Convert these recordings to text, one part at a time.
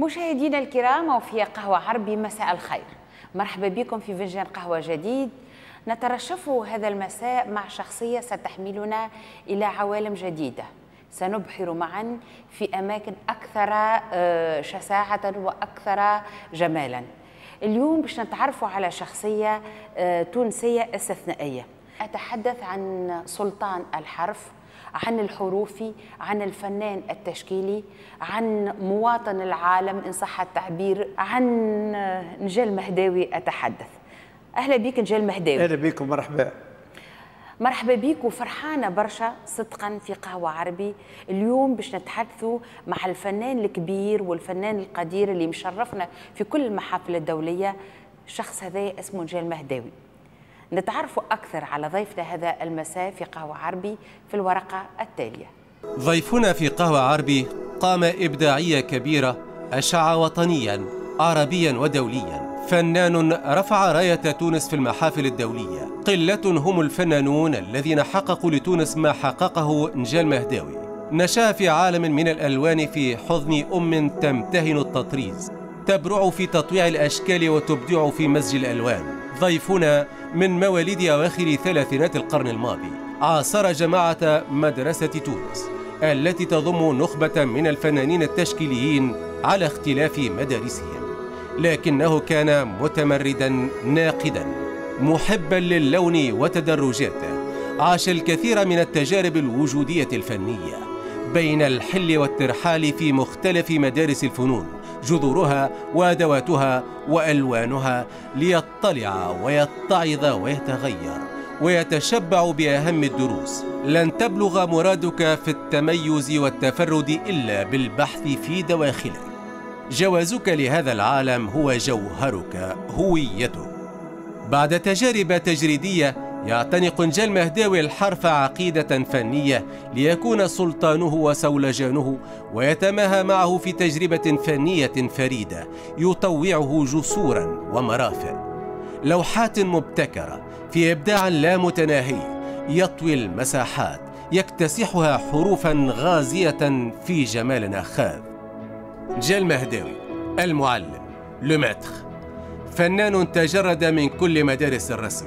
مشاهدينا الكرام وفي قهوة عربي، مساء الخير. مرحبا بكم في فنجان قهوة جديد. نترشف هذا المساء مع شخصية ستحملنا إلى عوالم جديدة، سنبحر معا في أماكن أكثر شساعة وأكثر جمالا. اليوم باش نتعرفوا على شخصية تونسية استثنائية. أتحدث عن سلطان الحرف، عن الحروفي، عن الفنان التشكيلي، عن مواطن العالم إن صح التعبير، عن نجال مهداوي أتحدث. أهلا بك نجال مهداوي. أهلا بكم، مرحبا. مرحبا بك وفرحانة برشا صدقا في قهوة عربي اليوم باش نتحدثوا مع الفنان الكبير والفنان القدير اللي مشرفنا في كل المحافل الدولية. الشخص هذا اسمه نجال مهداوي. نتعرفوا أكثر على ضيفنا هذا المساء في قهوة عربي في الورقة التالية. ضيفنا في قهوة عربي قامة إبداعية كبيرة، أشع وطنيا عربيا ودوليا، فنان رفع راية تونس في المحافل الدولية. قلة هم الفنانون الذين حققوا لتونس ما حققه نجال مهداوي. نشأ في عالم من الألوان في حضن أم تمتهن التطريز، تبرع في تطويع الأشكال وتبدع في مزج الألوان. ضيفنا من مواليد أواخر ثلاثينات القرن الماضي، عاصر جماعة مدرسة تونس التي تضم نخبة من الفنانين التشكيليين على اختلاف مدارسهم، لكنه كان متمردا ناقدا محبا للون وتدرجاته. عاش الكثير من التجارب الوجودية الفنية بين الحل والترحال في مختلف مدارس الفنون، جذورها وأدواتها وألوانها، ليطلع ويتعظ ويتغير ويتشبع بأهم الدروس. لن تبلغ مرادك في التميز والتفرد إلا بالبحث في دواخلك. جوازك لهذا العالم هو جوهرك، هويتك. بعد تجارب تجريدية يعتنق نجال مهداوي الحرف عقيدة فنية ليكون سلطانه وسولجانه، ويتماهى معه في تجربة فنية فريدة يطوعه جسورا ومرافق، لوحات مبتكرة في إبداع لا متناهي يطوي المساحات، يكتسحها حروفا غازية في جمال أخاذ. نجال مهداوي المعلم le maître، فنان تجرد من كل مدارس الرسم،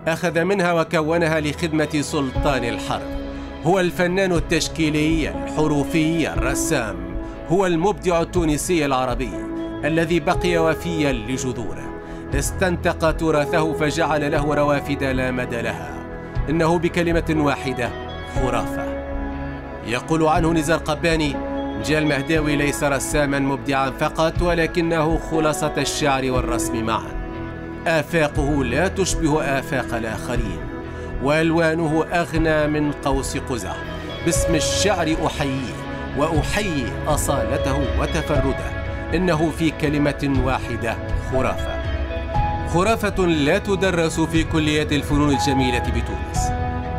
أخذ منها وكونها لخدمة سلطان الحرف. هو الفنان التشكيلي الحروفي الرسام، هو المبدع التونسي العربي الذي بقي وفيا لجذوره، استنتق تراثه فجعل له روافد لا مدى لها. إنه بكلمة واحدة خرافة. يقول عنه نزار قباني: نجال مهداوي ليس رساما مبدعا فقط، ولكنه خلاصة الشعر والرسم معا. آفاقه لا تشبه آفاق الآخرين، وألوانه أغنى من قوس قزح. باسم الشعر أحييه وأحيي أصالته وتفرده. إنه في كلمة واحدة خرافة. خرافة لا تدرس في كليات الفنون الجميلة بتونس،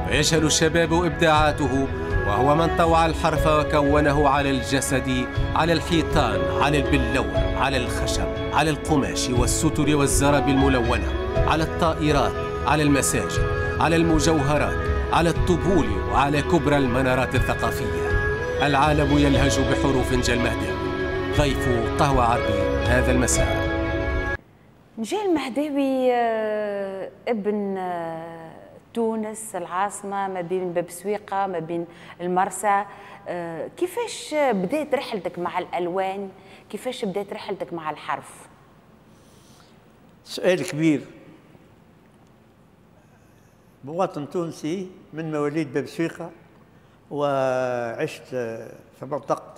فيجهل الشباب إبداعاته، وهو من طوع الحرف وكونه على الجسد، على الحيطان، على البلور، على الخشب، على القماش والستر والزراب الملونة، على الطائرات، على المساجد، على المجوهرات، على الطبول، وعلى كبرى المنارات الثقافية. العالم يلهج بحروف نجال مهداوي. ضيف قهوة عربي هذا المساء. نجال مهداوي ابن تونس العاصمة، ما بين باب سويقة ما بين المرسى. كيفاش بدأت رحلتك مع الألوان؟ كيفاش بدأت رحلتك مع الحرف؟ سؤال كبير. مواطن تونسي من مواليد باب سويقة، وعشت في منطقة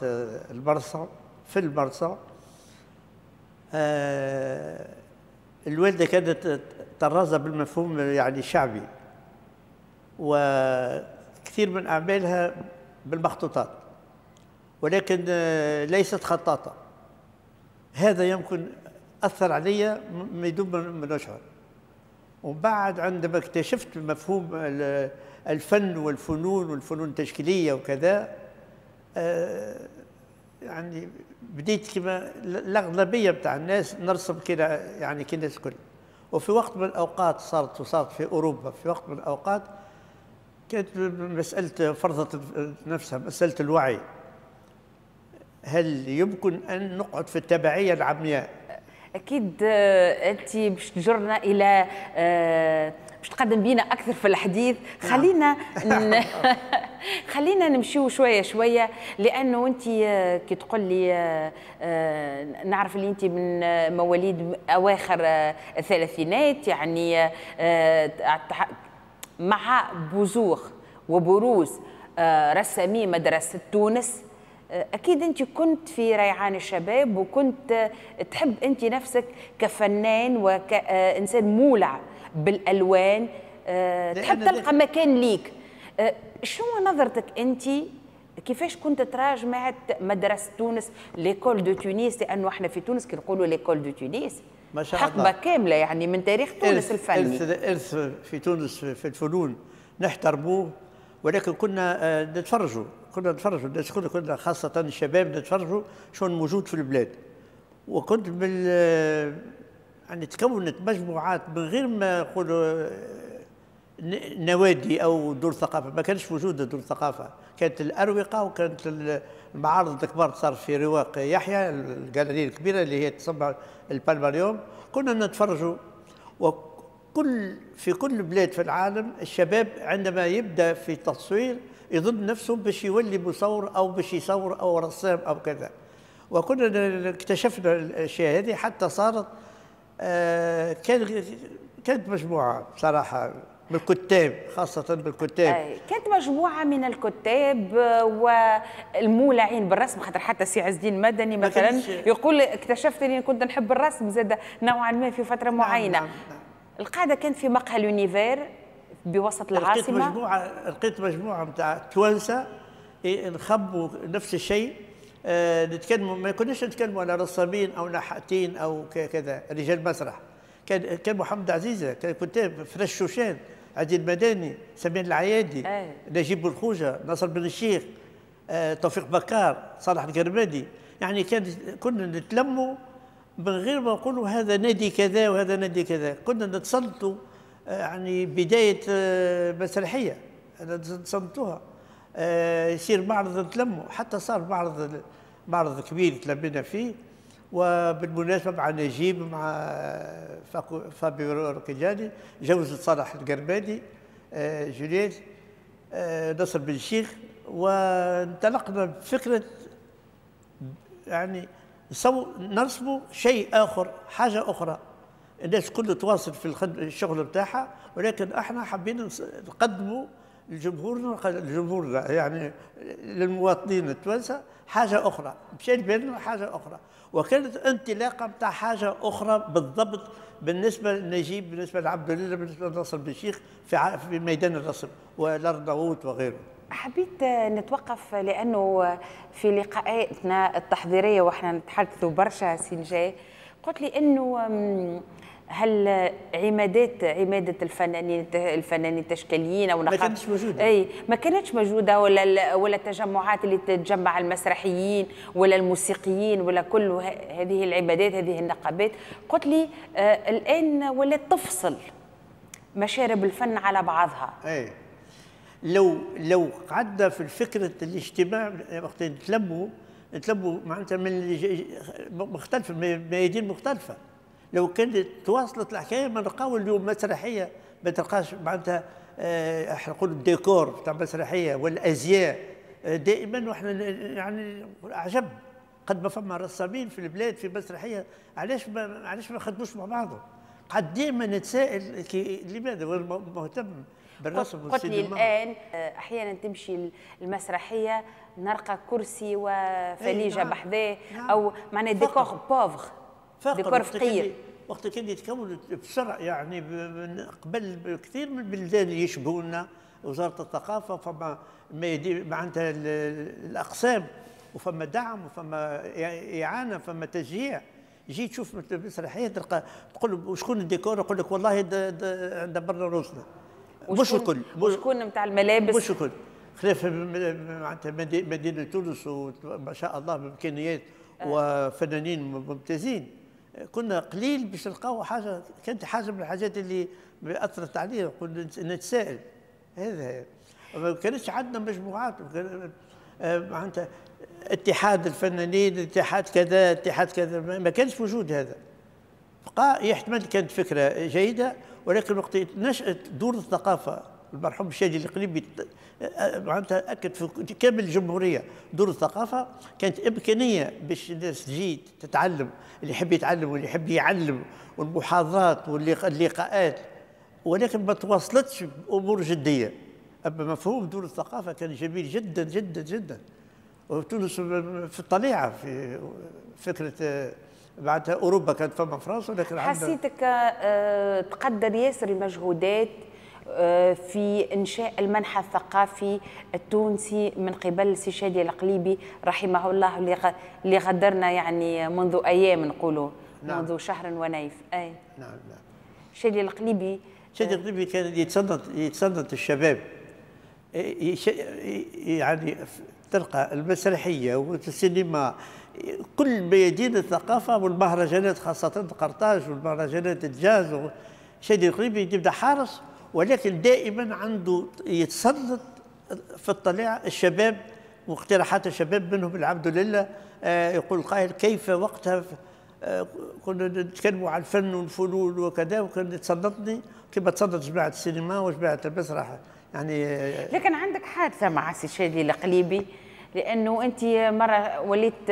المرسى، في المرسى. الوالدة كانت طرازة بالمفهوم يعني شعبي، وكثير من أعمالها بالمخطوطات، ولكن ليست خطاطة. هذا يمكن أثر علي ما يدوم من أشهر. وبعد عندما اكتشفت مفهوم الفن والفنون والفنون التشكيلية وكذا، يعني بديت كما الأغلبية بتاع الناس نرسم كده، يعني كي الناس الكل. وفي وقت من الأوقات صارت في أوروبا، في وقت من الأوقات كانت مسألة فرضت نفسها مسألة الوعي. هل يمكن أن نقعد في التبعية العمياء؟ أكيد أنت باش تجرنا إلى باش تقدم بينا أكثر في الحديث. خلينا خلينا نمشيو شوية شوية، لأنه أنت كي تقول لي نعرف اللي أنت من مواليد أواخر الثلاثينات، يعني مع بزوغ وبروز رسامي مدرسة تونس، أكيد أنت كنت في ريعان الشباب وكنت تحب أنت نفسك كفنان وكإنسان مولع بالألوان، تحب تلقى مكان ليك. شنو نظرتك أنت كيفاش كنت ترى جماعة مدرسة تونس l'école de Tunis؟ لأنه احنا في تونس كي نقولوا l'école de Tunis ما شاء الله حقبة كاملة يعني من تاريخ تونس الفني. إرث في تونس في الفنون نحترموه، ولكن كنا نتفرجوا، كنا نتفرجوا الناس، كنا خاصة الشباب نتفرجوا شو موجود في البلاد. وكنت بال يعني تكونت مجموعات من غير ما نقولوا نوادي او دور ثقافة، ما كانش موجودة دور ثقافة، كانت الاروقه وكانت المعارض الكبار صار في رواق يحيى الجاليريه الكبيرة اللي هي تسمى البالماريوم. كنا نتفرجوا، وكل في كل بلاد في العالم الشباب عندما يبدا في التصوير يظن نفسه باش يولي مصور او باش يصور او رسام او كذا. وكنا اكتشفنا الاشياء هذه حتى صارت كانت مجموعة بصراحة بالكتاب، خاصة بالكتاب. كانت مجموعة من الكتاب والمولعين بالرسم، خاطر حتى سي عز الدين مدني مثلا يقول اكتشفت اني كنت نحب الرسم زاد نوعا ما في فترة معينة. نعم نعم. القاعدة كانت في مقهى l'Univers بوسط العاصمة. لقيت مجموعة نتاع توانسة نخبوا نفس الشيء، نتكلموا، ما كناش نتكلموا على رسامين او نحاتين او كذا، رجال مسرح. كان محمد عزيزه، كان كتاب فرش شوشان، عزيز المداني، سمير العيادي، نجيب بالخوجه، ناصر بن الشيخ، توفيق بكار، صالح القرمادي. يعني كنا نتلموا من غير ما نقولوا هذا نادي كذا وهذا نادي كذا، كنا نتسلطوا يعني بداية مسرحية نتصنتوها، يصير معرض نتلموا، حتى صار معرض كبير تلمينا فيه. وبالمناسبة مع نجيب، مع فابيو ركجاني، جوزت صالح القرمادي، جوليت، نصر بن الشيخ، وانطلقنا بفكرة يعني نرسموا شيء آخر، حاجة أخرى. الناس كلها تواصل في الشغل بتاعها، ولكن احنا حابين نقدموا لجمهورنا يعني للمواطنين التوانسة حاجة اخرى، مشى بالنا حاجة اخرى، وكانت انطلاقة بتاع حاجة اخرى بالضبط بالنسبة لنجيب، بالنسبة لعبد الله، بالنسبة لناصر بن الشيخ في ميدان الرسم والارناؤوط وغيره. حبيت نتوقف لانه في لقاءاتنا التحضيريه واحنا نتحدثوا برشا سي نجاة، قلت لي انه هل عمادة الفنانين التشكيليين او ما كانتش موجودة؟ اي ما كانتش موجودة، ولا التجمعات اللي تتجمع المسرحيين ولا الموسيقيين ولا كل هذه العمادات هذه النقابات. قلت لي الان ولات تفصل مشارب الفن على بعضها. اي لو قعدنا في فكرة الاجتماع وقت نتلموا معناتها من مختلفة، ميادين مختلفة. لو كانت تواصلت الحكاية ما نلقاو اليوم مسرحية، ما تلقاش معناتها احنا نقولوا الديكور بتاع المسرحية والازياء دائما. واحنا يعني عجب قد ما فما رسامين في البلاد في مسرحية، علاش ما خدموش مع بعضهم؟ قد دائما نتساءل لماذا مهتم بالرسم. قلت لي الان احيانا تمشي المسرحية نلقى كرسي وفليجه نعم. بحذاه، نعم. او معناها décor pauvre، ديكور فقير. وقت كان يتكون بسرعة يعني من قبل كثير من البلدان اللي يشبهونا وزارة الثقافة، فما معناتها الاقسام، وفما دعم وفما اعانه، فما تشجيع. جيت تشوف مسرحية تلقى تقول له شكون الديكور، يقول لك والله دبرنا روسنا. مش الكل، وشكون نتاع الملابس، مش الكل. خلاف معناتها مدينة تونس وما شاء الله بامكانيات وفنانين ممتازين، كنا قليل باش نلقاو حاجة. كانت حاجة من الحاجات اللي اثرت علينا، كنا نتساءل هذا. ما كانتش عندنا مجموعات معناتها. اتحاد الفنانين، اتحاد كذا، اتحاد كذا، ما كانش موجود هذا. بقى يحتمل كانت فكرة جيدة، ولكن وقت نشأت دور الثقافة المرحوم الشادي القليبي معناتها اكد في كامل الجمهورية دور الثقافة، كانت امكانية باش الناس تجي تتعلم، اللي يحب يتعلم واللي يحب يعلم، والمحاضرات واللقاءات، ولكن ما تواصلتش بامور جدية. اما مفهوم دور الثقافة كان جميل جدا جدا جدا، وتونس في الطليعة في فكرة بعدها اوروبا كانت فما فرنسا، ولكن حسيتك تقدر ياسر المجهودات في إنشاء المنحى الثقافي التونسي من قبل سي شادي القليبي رحمه الله، اللي غدرنا يعني منذ أيام نقولوا. نعم. منذ شهر ونيف. أي نعم نعم. شادي القليبي، شادي القليبي كان يتصنت الشباب، يعني تلقى المسرحية والسينما، كل ميادين الثقافة والمهرجانات، خاصة قرطاج والمهرجانات الجاز. شادي القليبي يبدا حارس، ولكن دائما عنده يتسلط في الطليعة الشباب واقتراحات الشباب، منهم العبد لله. يقول القائل كيف وقتها كنا نتكلموا على الفن والفنون وكذا، وكان يتسلطني كما تسلط جماعة السينما وجماعه المسرح يعني. لكن عندك حادثه مع سي شادي القليبي، لانه انت مرة وليت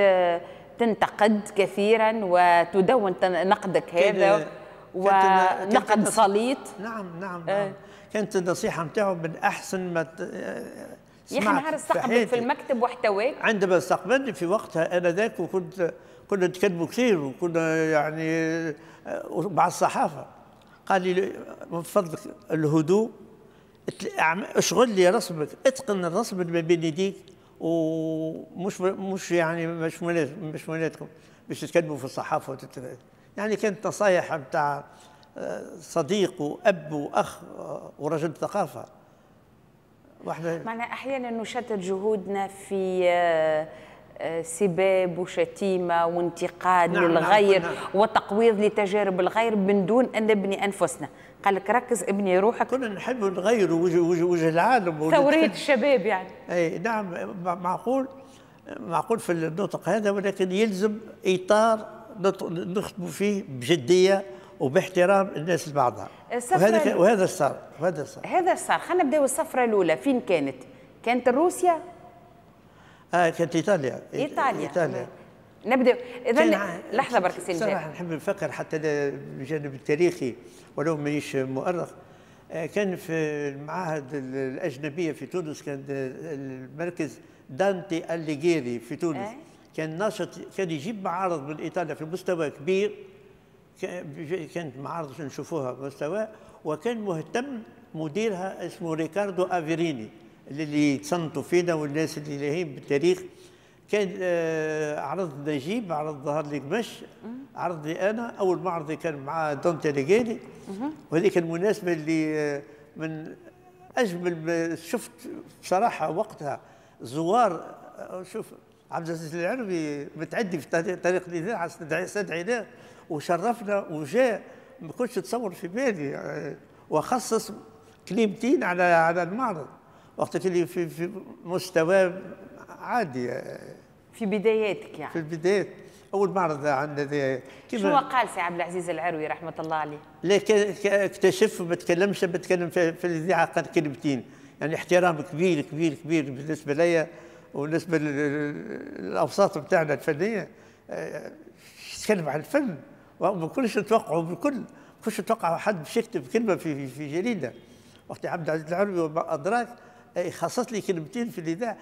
تنتقد كثيرا وتدون نقدك هذا ونقد سليط. نعم نعم نعم. كانت النصيحة نتاعو من احسن ما يا اخي نهار استقبلك في المكتب واحتواك. عندما استقبلني في وقتها انا ذاك، وكنت كنا نتكلموا كثير، وكنا يعني مع الصحافة، قال لي من فضلك الهدوء، اشغل لي رسمك، اتقن الرسم اللي ما بين يديك، ومش مش يعني مش مناسبكم باش تتكلموا في الصحافة يعني كانت نصايح نتاع صديق واب واخ ورجل ثقافة. واحنا معنا احيانا نشتت جهودنا في سباب وشتيمه وانتقاد. نعم للغير. نعم. وتقويض لتجارب الغير من دون ان نبني انفسنا. قال لك ركز ابني روحك. كنا نحب نغير وجه العالم، ثورية الشباب يعني. اي نعم، معقول معقول في النطق هذا، ولكن يلزم اطار نخدموا فيه بجدية وباحترام الناس لبعضها. وهذا صار، وهذا صار، هذا صار. خلينا نبداو السفرة الاولى، فين كانت؟ كانت روسيا؟ كانت ايطاليا. ايطاليا. نبدا اذا لحظة برك سي صراحة نحب نفكر حتى بالجانب التاريخي ولو مانيش مؤرخ. كان في المعاهد الاجنبية في تونس، كان المركز دانتي أليغيري في تونس. كان ناشط، كان يجيب معارض من ايطاليا في مستوى كبير، كانت معارض نشوفوها بمستوى، وكان مهتم مديرها اسمه ريكاردو افيريني اللي تصنتوا فينا والناس اللي لاهين بالتاريخ. كان عرض نجيب، عرض ظهر لي قمش، عرض لي انا اول معرض كان مع دانتي أليغيري، وهذيك المناسبة اللي من اجمل ما شفت بصراحة وقتها زوار. شوف عبد العزيز العروي متعدي في طريق الاذاعة استدعيناه وشرفنا وجاء، ما كنتش تصور في بالي، وخصص كلمتين على المعرض وقت اللي في مستوى عادي في بداياتك يعني. في البدايات اول معرض عندنا. شنو قال سي عبد العزيز العروي رحمه الله عليه؟ لا اكتشف ما تكلمش، بتكلم في الاذاعة قال كلمتين، يعني احترام كبير كبير كبير بالنسبة ليا وبالنسبة للاوساط بتاعنا الفنية. يتكلم عن الفن وما كناش نتوقعوا بالكل، ما كنتش نتوقع حد باش يكتب كلمة في جريدة. وقت عبد العزيز العروي وما ادراك خصص لي كلمتين في الاذاعة،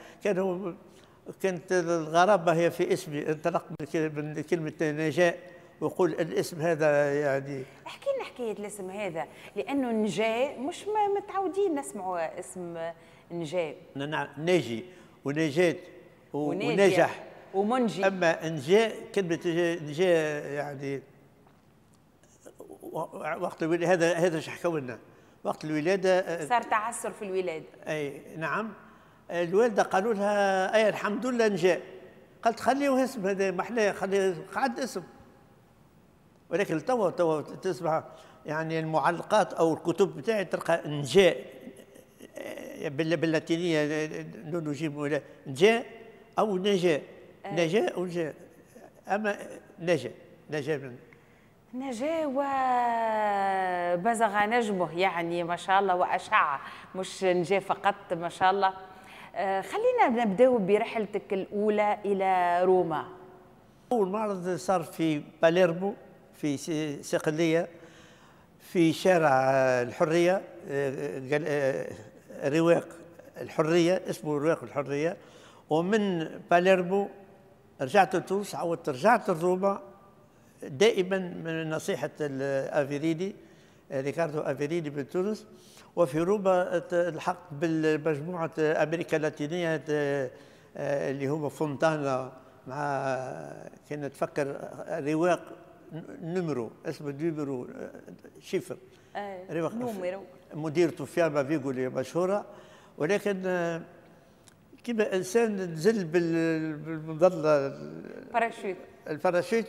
كانت الغرابة هي في اسمي، انطلق من كلمة نجاء ويقول الاسم هذا يعني. احكي لنا حكاية الاسم هذا، لانه نجاء مش متعودين نسمعوا اسم نجاء. نعم، ناجي ونجاة ونجح ومنجي. اما نجاء، كلمة نجاء يعني وقت الولادة، هذا اش حكوا لنا وقت الولادة صار تعثر في الولادة. اي نعم، الوالدة قالوا لها اي الحمد لله نجاء، قالت خليه اسم هذا محلاه، خليه قعد اسم. ولكن توا تسمع يعني المعلقات او الكتب بتاعي تلقى نجاء باللاتينيه نون وجيم ولا نجاء، او نجا. نجا او نجا، اما نجا، نجا من نجا وبزغ نجمه، يعني ما شاء الله، وأشع، مش نجا فقط، ما شاء الله. خلينا نبداو برحلتك الأولى إلى روما. أول معرض صار في باليرمو في صقلية، في شارع الحرية، رواق الحرية، اسمه رواق الحرية. ومن باليرمو رجعت لتونس، عودت رجعت لروما، دائما من نصيحة الأفيريني، ريكاردو أفيريني من تونس. وفي روما الحقت بالمجموعة أمريكا اللاتينية اللي هو فونتانا، مع كان نتفكر رواق numéro، اسمه numéro chiffre، رواق numéro، مديرته فياما فيغولي مشهورة. ولكن كما إنسان نزل بالمظلة باراشوت، الباراشوت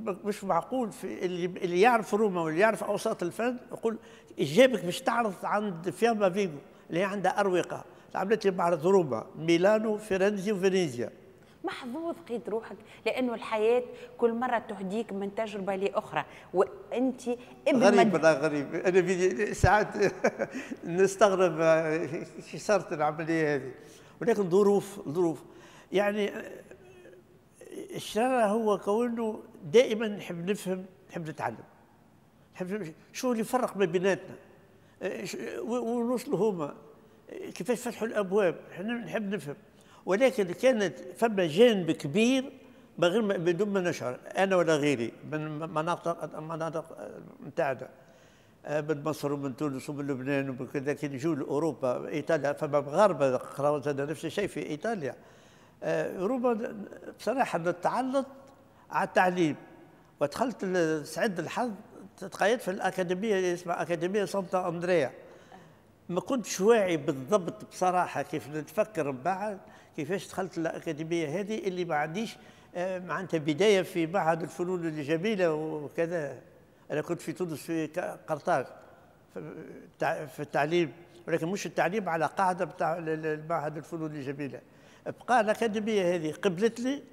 مش معقول. في اللي يعرف روما واللي يعرف اوساط الفن يقول جابك باش تعرض عند فياما فيغو اللي هي عندها اروقة. عملت لي معرض روما، ميلانو، فيرنزي وفينيزيا. محظوظ قيد روحك، لانه الحياة كل مرة تهديك من تجربه لاخرى، وانت ابن غريب. لا غريب، انا ساعات نستغرب كي صارت العملية هذه، ولكن ظروف يعني. الشرارة هو كونه دائما نحب نفهم، نحب نتعلم، نحب شو اللي يفرق ما بيناتنا، ونوصلوا هما كيفاش فتحوا الابواب، نحب نفهم. ولكن كانت فما جانب كبير من غير بدون ما نشعر انا ولا غيري من مناطق نتاعنا، من مصر ومن تونس ومن لبنان ومن كذا، كي يجوا لاوروبا ايطاليا فما مغاربة قراوا نفس الشيء في ايطاليا. روما بصراحة نتعلط على التعليم، ودخلت سعد الحظ تقيدت في الاكاديمية اللي اسمها اكاديمية سانتا اندريا. ما كنتش واعي بالضبط بصراحة كيف نتفكر من بعد كيفاش دخلت الاكاديمية هذه اللي ما عنديش معناتها بداية في معهد الفنون الجميلة وكذا. انا كنت في تونس في قرطاج في التعليم، ولكن مش التعليم على قاعدة بتاع المعهد الفنون الجميلة. بقى الاكاديمية هذه قبلت لي،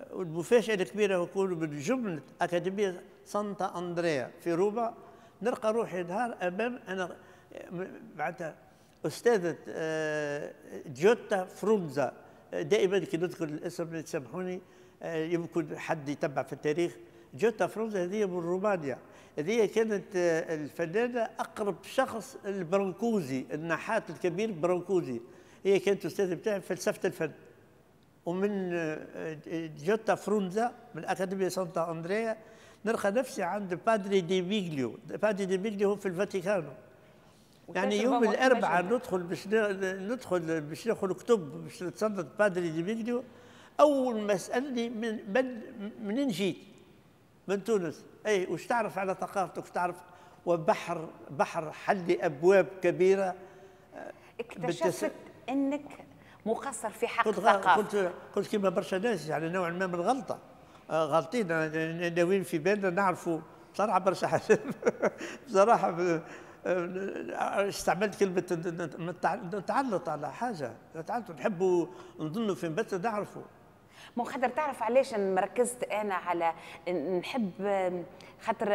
والمفاجاه الكبيرة يكون من جملة اكاديمية سانتا اندريا في روما، نلقى روحي نهار امام انا معناتها استاذه جوتا فرونزا. دائما كي نذكر الاسم تسامحوني، يمكن حد يتبع في التاريخ. جوتا فرونزا هذه من رومانيا، هذه كانت الفنانة اقرب شخص البرانكوزي، النحات الكبير برانكوزي. هي كانت استاذه بتاعي في فلسفة الفن. ومن جوتا فرونزا من اكاديمية سانتا اندريا نلقى نفسي عند بادري دي ميغليو. بادري دي ميغليو هو في الفاتيكان. يعني يوم الاربعاء ندخل باش ندخل باش ناخذ كتب باش نتصدق بادري دي ميغليو. اول ما سالني من منين جيت؟ من تونس. اي وش تعرف على ثقافتك؟ تعرف وبحر بحر حل ابواب كبيرة. اكتشفت انك مقصر في حق الثقافة. كنت كيما برشا ناس يعني نوعا ما من الغلطة، غلطين ناويين في بالنا نعرفوا بصراحة برشا حاجات. بصراحة استعملت كلمة نتعلط على حاجة، نتعلط نحبوا نظنوا في بس نعرفوا. مو خاطر تعرف علاش مركزت انا على نحب خاطر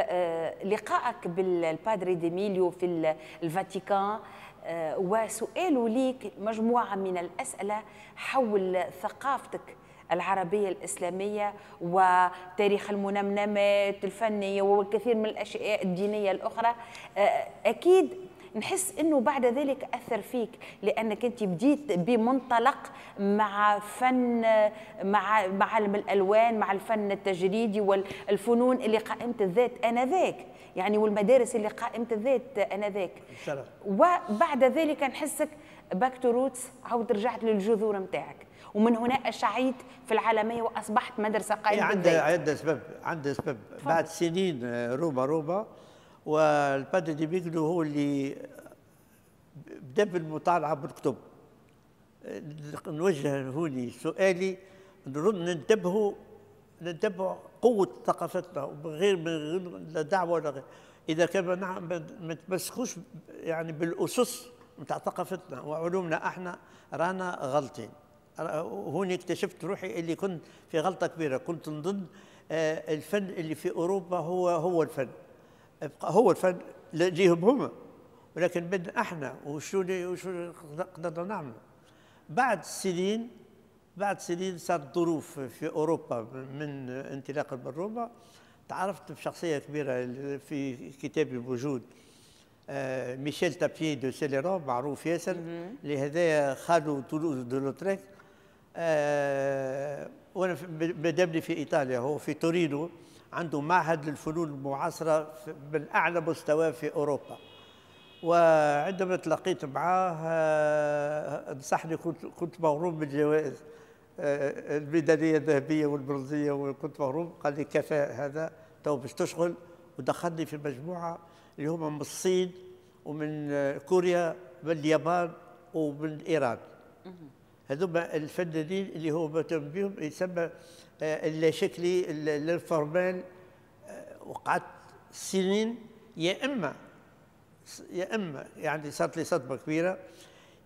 لقائك بالبادري ديميليو في الفاتيكان وسؤاله ليك مجموعة من الاسئلة حول ثقافتك العربية الإسلامية وتاريخ المنمنمات الفنية والكثير من الأشياء الدينية الأخرى. أكيد نحس أنه بعد ذلك أثر فيك، لأنك أنت بديت بمنطلق مع فن، مع عالم الألوان، مع الفن التجريدي والفنون اللي قائمة الذات آنذاك، يعني والمدارس اللي قائمة الذات آنذاك. وبعد ذلك نحسك back to roots، عاود رجعت للجذور نتاعك، ومن هنا أشعيت في العالمية وأصبحت مدرسة قائمة بالذات. عندها سبب، عندها سبب. بعد سنين روما والبادري دي ميغلو هو اللي بدا بالمطالعة بالكتب. نوجه هوني سؤالي، ننتبهوا قوة ثقافتنا ومن غير لا دعوة ولا غير. إذا كان ما نتمسكوش يعني بالأسس نتاع ثقافتنا وعلومنا احنا رانا غلطين. هوني اكتشفت روحي اللي كنت في غلطه كبيرة، كنت نظن الفن اللي في اوروبا هو الفن، هو الفن ليهم هما، ولكن بدنا احنا وشو قدرنا نعمله. بعد سنين صارت ظروف في اوروبا من انطلاقا من روما، تعرفت بشخصية كبيرة في كتابي الموجود، ميشيل تابيي دو سيليرون، معروف ياسر، لهذا خالو تولوز دو لوتريك. وانا مادامني في ايطاليا، هو في تورينو، عنده معهد للفنون المعاصرة من اعلى مستوى في اوروبا. وعندما تلاقيت معاه نصحني، كنت مغروم بالجوائز الميداليه الذهبية والبرونزيه، وكنت مغروم. قال لي كفاء هذا تو باش تشغل، ودخلني في مجموعة اللي هما من الصين ومن كوريا، من اليابان ومن ايران. هذوما الفنانين اللي هو مهتم بهم، يسمى اللاشكلي ال informel. وقعدت سنين يا اما يعني صارت لي صدمة كبيرة،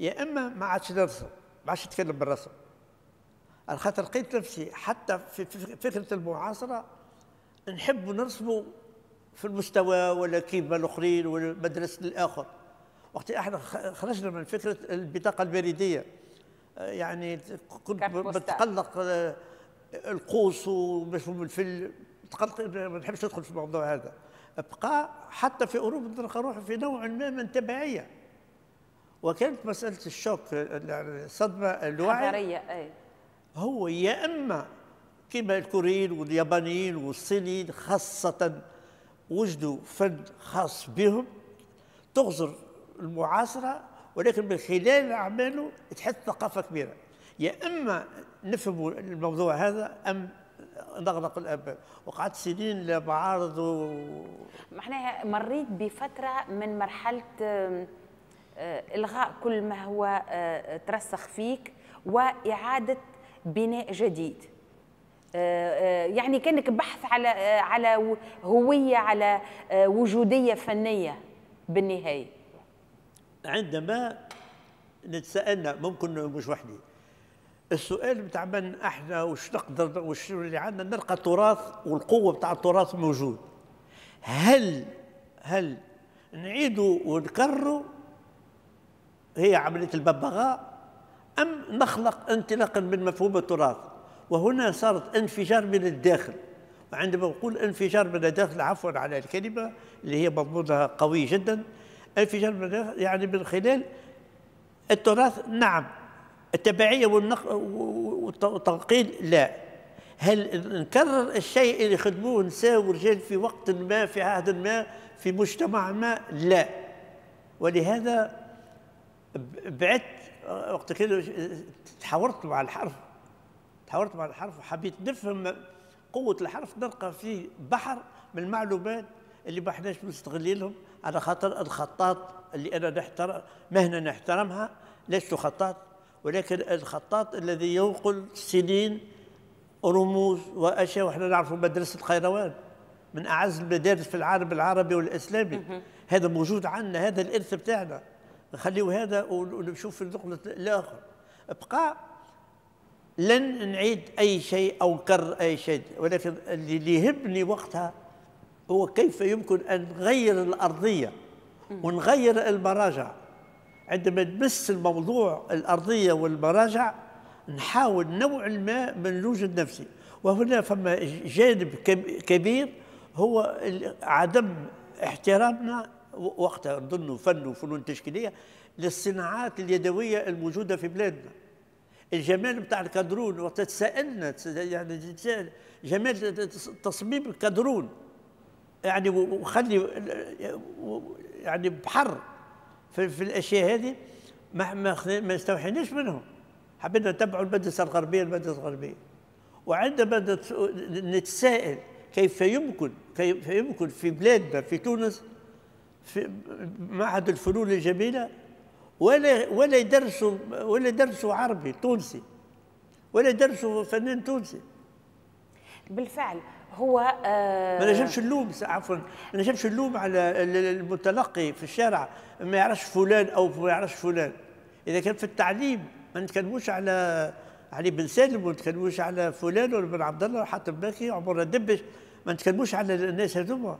يا اما ما عادش نرسم، ما عادش نتكلم بالرسم، على خاطر لقيت نفسي حتى في فكرة المعاصرة نحب نرسموا في المستوى ولا كيما الاخرين ولا مدرسه الاخر. وقت احنا خرجنا من فكرة البطاقة البريدية، يعني كنت بتقلق القوس ومفهوم الفيل، تقلق، ما نحبش ندخل في الموضوع هذا. بقى حتى في اوروبا نلقى روحي في نوع ما من تبعية. وكانت مسالة ال choc، الصدمة الوعي هو يا اما كما الكوريين واليابانيين والصينيين خاصة وجدوا فن خاص بهم تغزر المعاصرة، ولكن من خلال اعماله تحس ثقافة كبيرة. يا اما نفهموا الموضوع هذا ام نغلق الابواب. وقعدت سنين لا معارض معناها مريت بفترة من مرحلة الغاء كل ما هو ترسخ فيك واعاده بناء جديد، يعني كانك بحث على هوية، على وجودية فنية بالنهاية. عندما نتساءلنا، ممكن مش وحدي، السؤال بتاع من احنا وش نقدر وش اللي عندنا، نلقى التراث والقوه بتاع التراث موجود. هل نعيدوا ونكرروا هي عملية الببغاء، ام نخلق انطلاقا من مفهوم التراث؟ وهنا صارت انفجار من الداخل. وعندما نقول انفجار من الداخل، عفوا على الكلمة اللي هي مضمونها قوي جدا، انفجار من الداخل يعني من خلال التراث نعم، التبعية والتنقيل لا. هل نكرر الشيء اللي خدموه نساء ورجال في وقت ما، في عهد ما، في مجتمع ما؟ لا. ولهذا بعدت وقت كده، تحاورت مع الحرف، تحاورت مع الحرف وحبيت نفهم قوة الحرف. نلقى فيه بحر من المعلومات اللي ما احناش مستغلينهم، على خاطر الخطاط اللي أنا نحترم، مهنة نحترمها، لست خطاط، ولكن الخطاط الذي ينقل سنين رموز واشياء، واحنا نعرفوا مدرسه القيروان من اعز المدارس في العالم العربي والاسلامي، هذا موجود عندنا، هذا الارث بتاعنا، نخليه هذا ونشوف في النقلة الاخر. بقى لن نعيد اي شيء او نكرر اي شيء، ولكن اللي يهمني وقتها هو كيف يمكن ان نغير الارضية ونغير المراجع. عندما نمس الموضوع الأرضية والمراجع نحاول نوع ما من نوجد نفسي. وهنا فما جانب كبير هو عدم احترامنا وقتها، نظن فن وفنون تشكيلية، للصناعات اليدوية الموجودة في بلادنا. الجمال بتاع الكادرون، وقت تسألنا يعني جمال تصميم الكادرون، يعني وخلي يعني بحر في الاشياء هذه ما استوحيناش منهم. حبينا نتبعوا المدرسة الغربية، المدرسة الغربية. وعندما نتساءل كيف يمكن في بلادنا في تونس في معهد الفنون الجميلة ولا يدرسوا عربي تونسي، ولا يدرسوا فنان تونسي. بالفعل هو ما نجمش نلوم، عفوا، ما نجمش نلوم على المتلقي في الشارع ما يعرفش فلان او ما يعرفش فلان. اذا كان في التعليم ما نتكلموش على علي بن سالم، وما نتكلموش على فلان ولا بن عبد الله وحاتم باكي وعمر الدبش، ما نتكلموش على الناس هذوما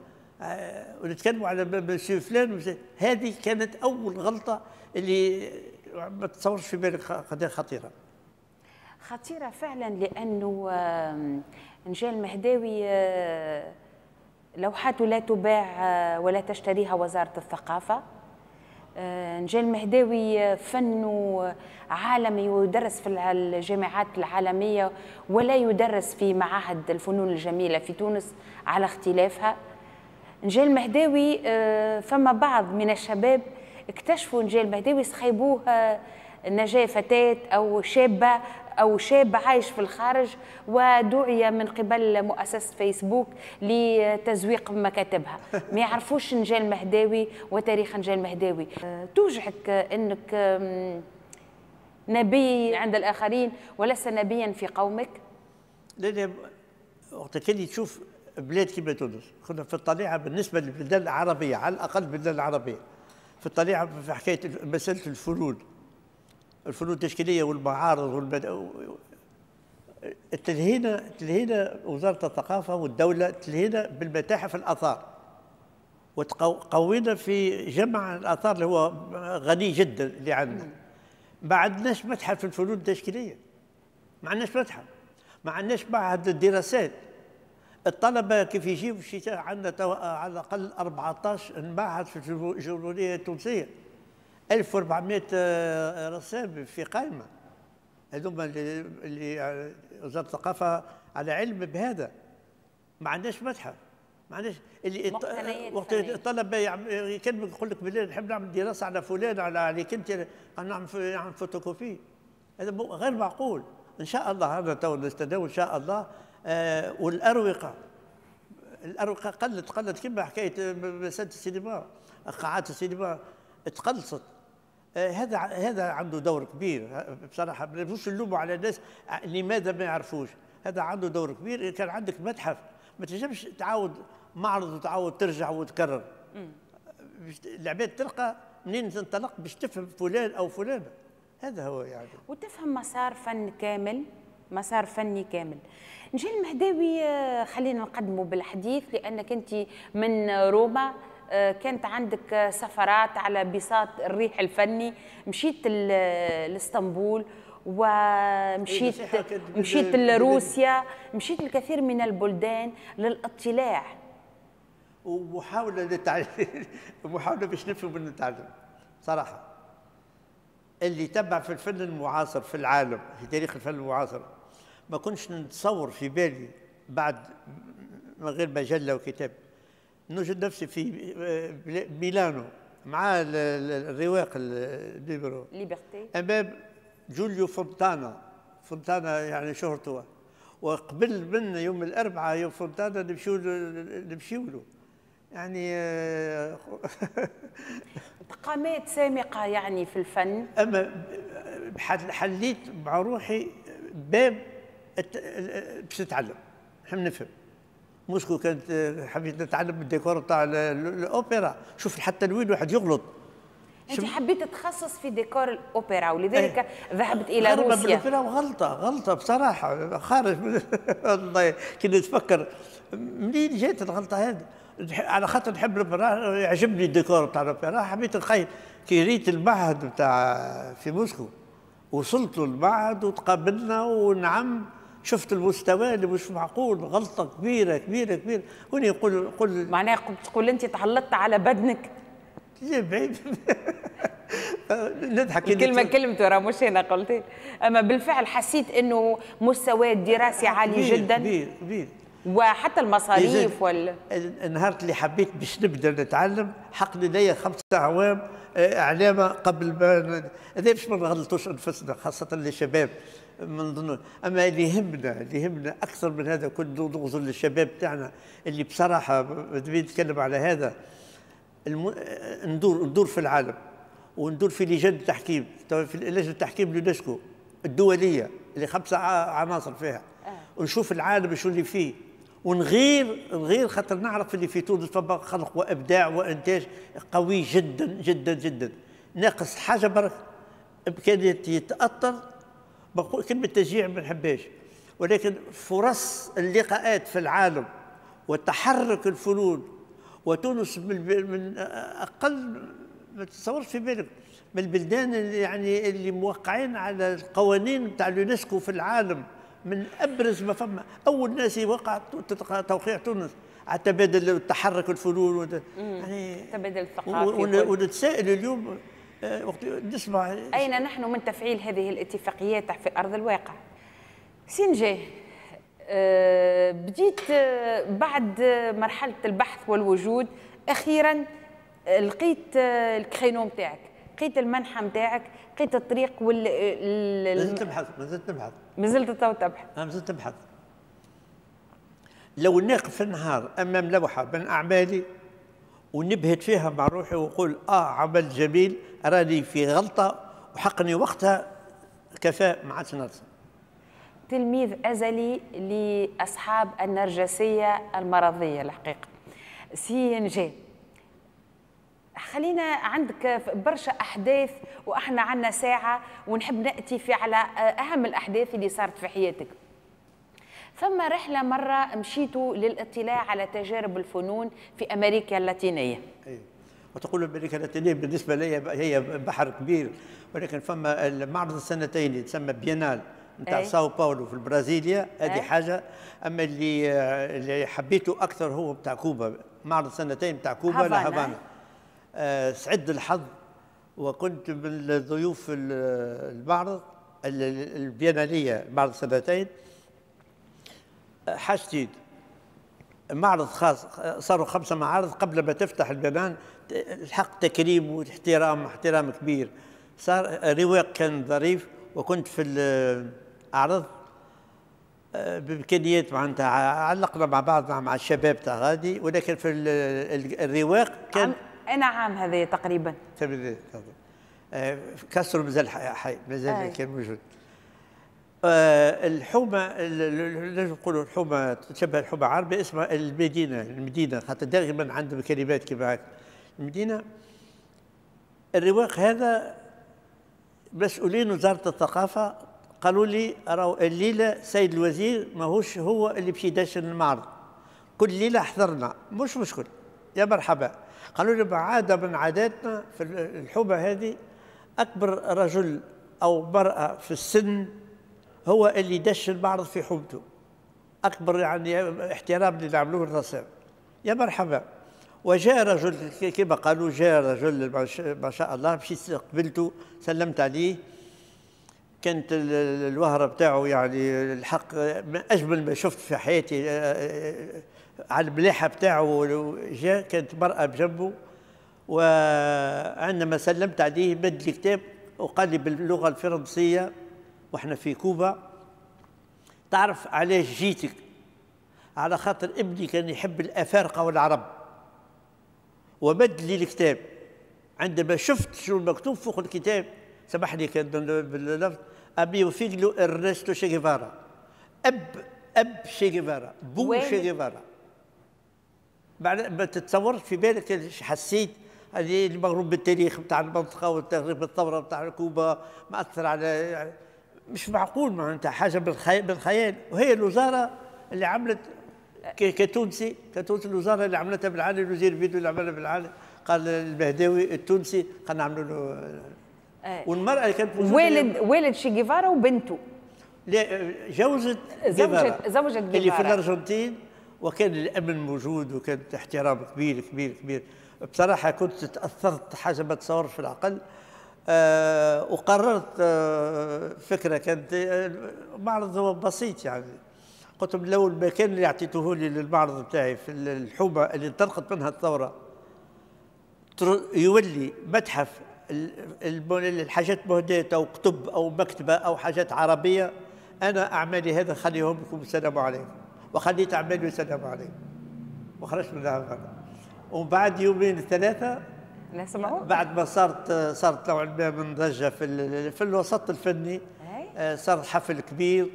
ونتكلموا على مسيو فلان. هذه كانت اول غلطه اللي ما تصورش في بالك قضية خطيرة. خطيرة فعلا، لانه نجاة المهداوي لوحاته لا تباع ولا تشتريها وزارة الثقافة. نجاة المهداوي فنه عالمي ويدرس في الجامعات العالمية ولا يدرس في معاهد الفنون الجميلة في تونس على اختلافها. نجاة المهداوي فما بعض من الشباب اكتشفوا نجاة المهداوي، سخيبوه نجاة فتاة أو شابة أو شاب عايش في الخارج، ودعي من قبل مؤسسة فيسبوك لتزويق مكاتبها. ما يعرفوش نجاة المهداوي وتاريخ نجاة المهداوي. توجعك أنك نبي عند الآخرين ولست نبيا في قومك؟ لا لا، وقت كان تشوف بلاد كيما تونس، كنا في الطليعة بالنسبة للبلدان العربية، على الأقل البلدان العربية في الطليعة في حكاية مسألة الفنون، الفنون التشكيليه والمعارض تلهينا وزارة الثقافة والدولة، تلهينا بالمتاحف الاثار، وتقوينا في جمع الاثار اللي هو غني جدا اللي عندنا. ما عندناش متحف الفنون التشكيليه، ما عندناش متحف، ما عندناش معهد الدراسات. الطلبة كيف يجيو في الشتاء عندنا على الاقل 14 معهد في الجمهورية التونسية، 1400 رسام في قائمة، هذوما اللي وزارة الثقافة على علم بهذا. ما عندناش متحف، ما عندناش اللي وقت الطلبة يكلمك يقول لك بالله نحب نعمل دراسة على فلان، على عليك انت، نعمل فوتوكوبي. هذا غير معقول. ان شاء الله هذا تو نستناو ان شاء الله. والاروقه، الاروقه قلت كما حكاية مسالة السينما، قاعات السينما تقلصت. هذا عنده دور كبير بصراحة، ما نجموش نلوموا على الناس لماذا ما يعرفوش. هذا عنده دور كبير. كان عندك متحف ما تنجمش تعاود معرض وتعاود ترجع وتكرر. العباد تلقى منين تنطلق باش تفهم فلان او فلانه. هذا هو يعني، وتفهم مسار فن كامل، مسار فني كامل. نجاة المهداوي خلينا نقدمه بالحديث، لانك انت من روما، كانت عندك سفرات على بساط الريح الفني، مشيت لاسطنبول ومشيت مشيت لروسيا، مشيت الكثير من البلدان للاطلاع ومحاولة للتعلم، محاولة باش نفهم ونتعلم. صراحة اللي تبع في الفن المعاصر في العالم، في تاريخ الفن المعاصر، ما كنتش نتصور في بالي بعد من غير مجلة وكتاب نوجد نفسي في ميلانو مع الرواق الليبرو ليبرتي امام جوليو فونتانا. فونتانا يعني شهرته، وقبل من يوم الاربعاء يوم فونتانا نمشيو له يعني قامات سامقه يعني في الفن. اما حليت مع روحي باب باش نتعلم، نحب نفهم. موسكو كانت حبيت نتعلم الديكور تاع الاوبرا، شوف حتى الوين واحد يغلط. انت حبيت تتخصص في ديكور الاوبرا ولذلك ذهبت الى روسيا. الاوبرا وغلطه، غلطه بصراحة خارج والله كي نتفكر منين جات الغلطة هذه، على خاطر نحب الاوبرا، يعجبني الديكور تاع الاوبرا، حبيت نخيل. كي ريت المعهد بتاع في موسكو، وصلت للمعهد وتقابلنا ونعم، شفت المستوى اللي مش معقول، غلطه كبيرة كبيرة كبيرة. هوني يقول معناها تقول انت تعلطت على بدنك. بعيد نضحك الكلمة كلمته راه مش انا قلت، اما بالفعل حسيت انه مستوى الدراسي عالي كبير جدا، كبير كبير، وحتى المصاريف وال النهار اللي حبيت باش نبدا نتعلم حق لدي 5 أعوام اعلامه قبل ما هذا باش ما نغلطوش انفسنا، خاصة للشباب من ضمن. اما اللي يهمنا، اللي يهمنا اكثر من هذا كله نغزر للشباب تاعنا اللي بصراحة نتكلم على هذا، ندور في العالم وندور في لجان التحكيم، في لجنة التحكيم اليونسكو الدولية اللي 5 عناصر فيها. ونشوف العالم شو اللي فيه، ونغير خاطر نعرف اللي في تونس فما خلق وابداع وانتاج قوي جدا جدا جدا. ناقص حاجة برك امكانية يتاثر، بقول كلمة تشجيع ما نحبهاش، ولكن فرص اللقاءات في العالم وتحرك الفنون، وتونس من اقل ما تتصورش في بالك من البلدان اللي يعني اللي موقعين على القوانين نتاع اليونسكو في العالم، من ابرز ما فما اول ناس يوقع توقيع تونس على تبادل التحرك الفنون يعني التبادل الثقافي. ونتسائل اليوم وقت نسمع اين نحن من تفعيل هذه الاتفاقيات في ارض الواقع. سي نجاه، بديت بعد مرحلة البحث والوجود، اخيرا لقيت ال créneau نتاعك، لقيت المنحى نتاعك، لقيت الطريق وال مازلت تبحث، مازلت نبحث، مازلت تو تبحث. مازلت تبحث. لو نقف في النهار امام لوحة من اعمالي ونبهت فيها مع روحي ونقول عمل جميل، راني في غلطه وحقني وقتها كفاء ما عادش نرسم. تلميذ ازلي لاصحاب النرجسية المرضية الحقيقة. سي نجاه، خلينا عندك برشا احداث واحنا عندنا ساعة ونحب ناتي في على اهم الاحداث اللي صارت في حياتك. ثم رحله مرة مشيتوا للاطلاع على تجارب الفنون في امريكا اللاتينية. أيوه. وتقول امريكا اللاتينية بالنسبة لي هي بحر كبير، ولكن فما المعرض السنتين يتسمى بينال نتاع ساو باولو في البرازيليا، هذه حاجة. اما اللي حبيته اكثر هو بتاع كوبا، معرض سنتين بتاع كوبا لهافانا. سعد الحظ وكنت من ضيوف المعرض البيناليه، معرض سنتين. حاجتين، معرض خاص، صاروا 5 معارض قبل ما تفتح البينال، الحق تكريم واحترام، احترام كبير. صار رواق كان ظريف، وكنت في الأعراض بإمكانيات معناتها علقنا مع بعضنا مع الشباب تاع غادي، ولكن في الرواق كان أنا عام هذا تقريبا كاسترو مازال حي، مازال كان موجود. الحومه لازم نقولوا الحومه تشبه الحومه عربي، اسمها المدينة، المدينة خاطر دائما عندهم كلمات كيما هكا المدينة. الرواق هذا مسؤولين وزارة الثقافة قالوا لي راهو الليلة سيد الوزير ماهوش هو اللي باش يدشن المعرض، كل ليلة حضرنا مش مشكل يا مرحبا. قالوا لي عادة من عاداتنا في الحومه هذه اكبر رجل او مرأة في السن هو اللي دش المعرض في حومته، اكبر يعني احترام اللي نعملوه للرسام يا مرحبا. وجاء رجل كما قالوا، جاء رجل ما شاء الله، مشيت قبلته سلمت عليه، كانت الوهره بتاعه يعني الحق من اجمل ما شفت في حياتي على الملاحة بتاعه. جاء كانت مرأة بجنبه، وعندما سلمت عليه مد لي كتاب وقال لي باللغة الفرنسية واحنا في كوبا، تعرف علاش جيتك؟ على خاطر ابني كان يحب الافارقة والعرب. ومد لي الكتاب، عندما شفت شو المكتوب فوق الكتاب، سامحني كان باللفظ، amigo figlio ارنستو شي جيفارا، اب شي جيفارا، بو شي جيفارا. بعد ما تتصورش في بالك حسيت هذه المغروم بالتاريخ بتاع المنطقة والتاريخ بالثورة بتاع كوبا مأثر على، مش معقول معناتها حاجة بالخيال. وهي الوزارة اللي عملت كتونسي، كتونسي الوزارة اللي عملتها بالعالي، الوزير بيدو اللي عملها بالعالي، قال المهداوي التونسي قال نعملوا له. والمرأة اللي كانت والد شي جيفارا وبنته، لا جوزة زوجة جيفارا اللي في الأرجنتين، وكان الأمن موجود وكان احترام كبير كبير كبير. بصراحة كنت تأثرت حاجة ما تصورش في العقل. وقررت فكرة كانت معرض هو بسيط يعني، قلت لهم لو المكان اللي اعطيته لي للمعرض بتاعي في الحومة اللي انطلقت منها الثورة يولي متحف الحاجات مهداة أو كتب أو مكتبة أو حاجات عربية، أنا أعمالي هذا خليهم لكم السلام عليكم. وخليت أعمالي والسلام عليكم وخرجت من هذا. ومن بعد يومين ثلاثة بعد ما صارت نوعا ما من ضجة في الوسط الفني، صار حفل كبير.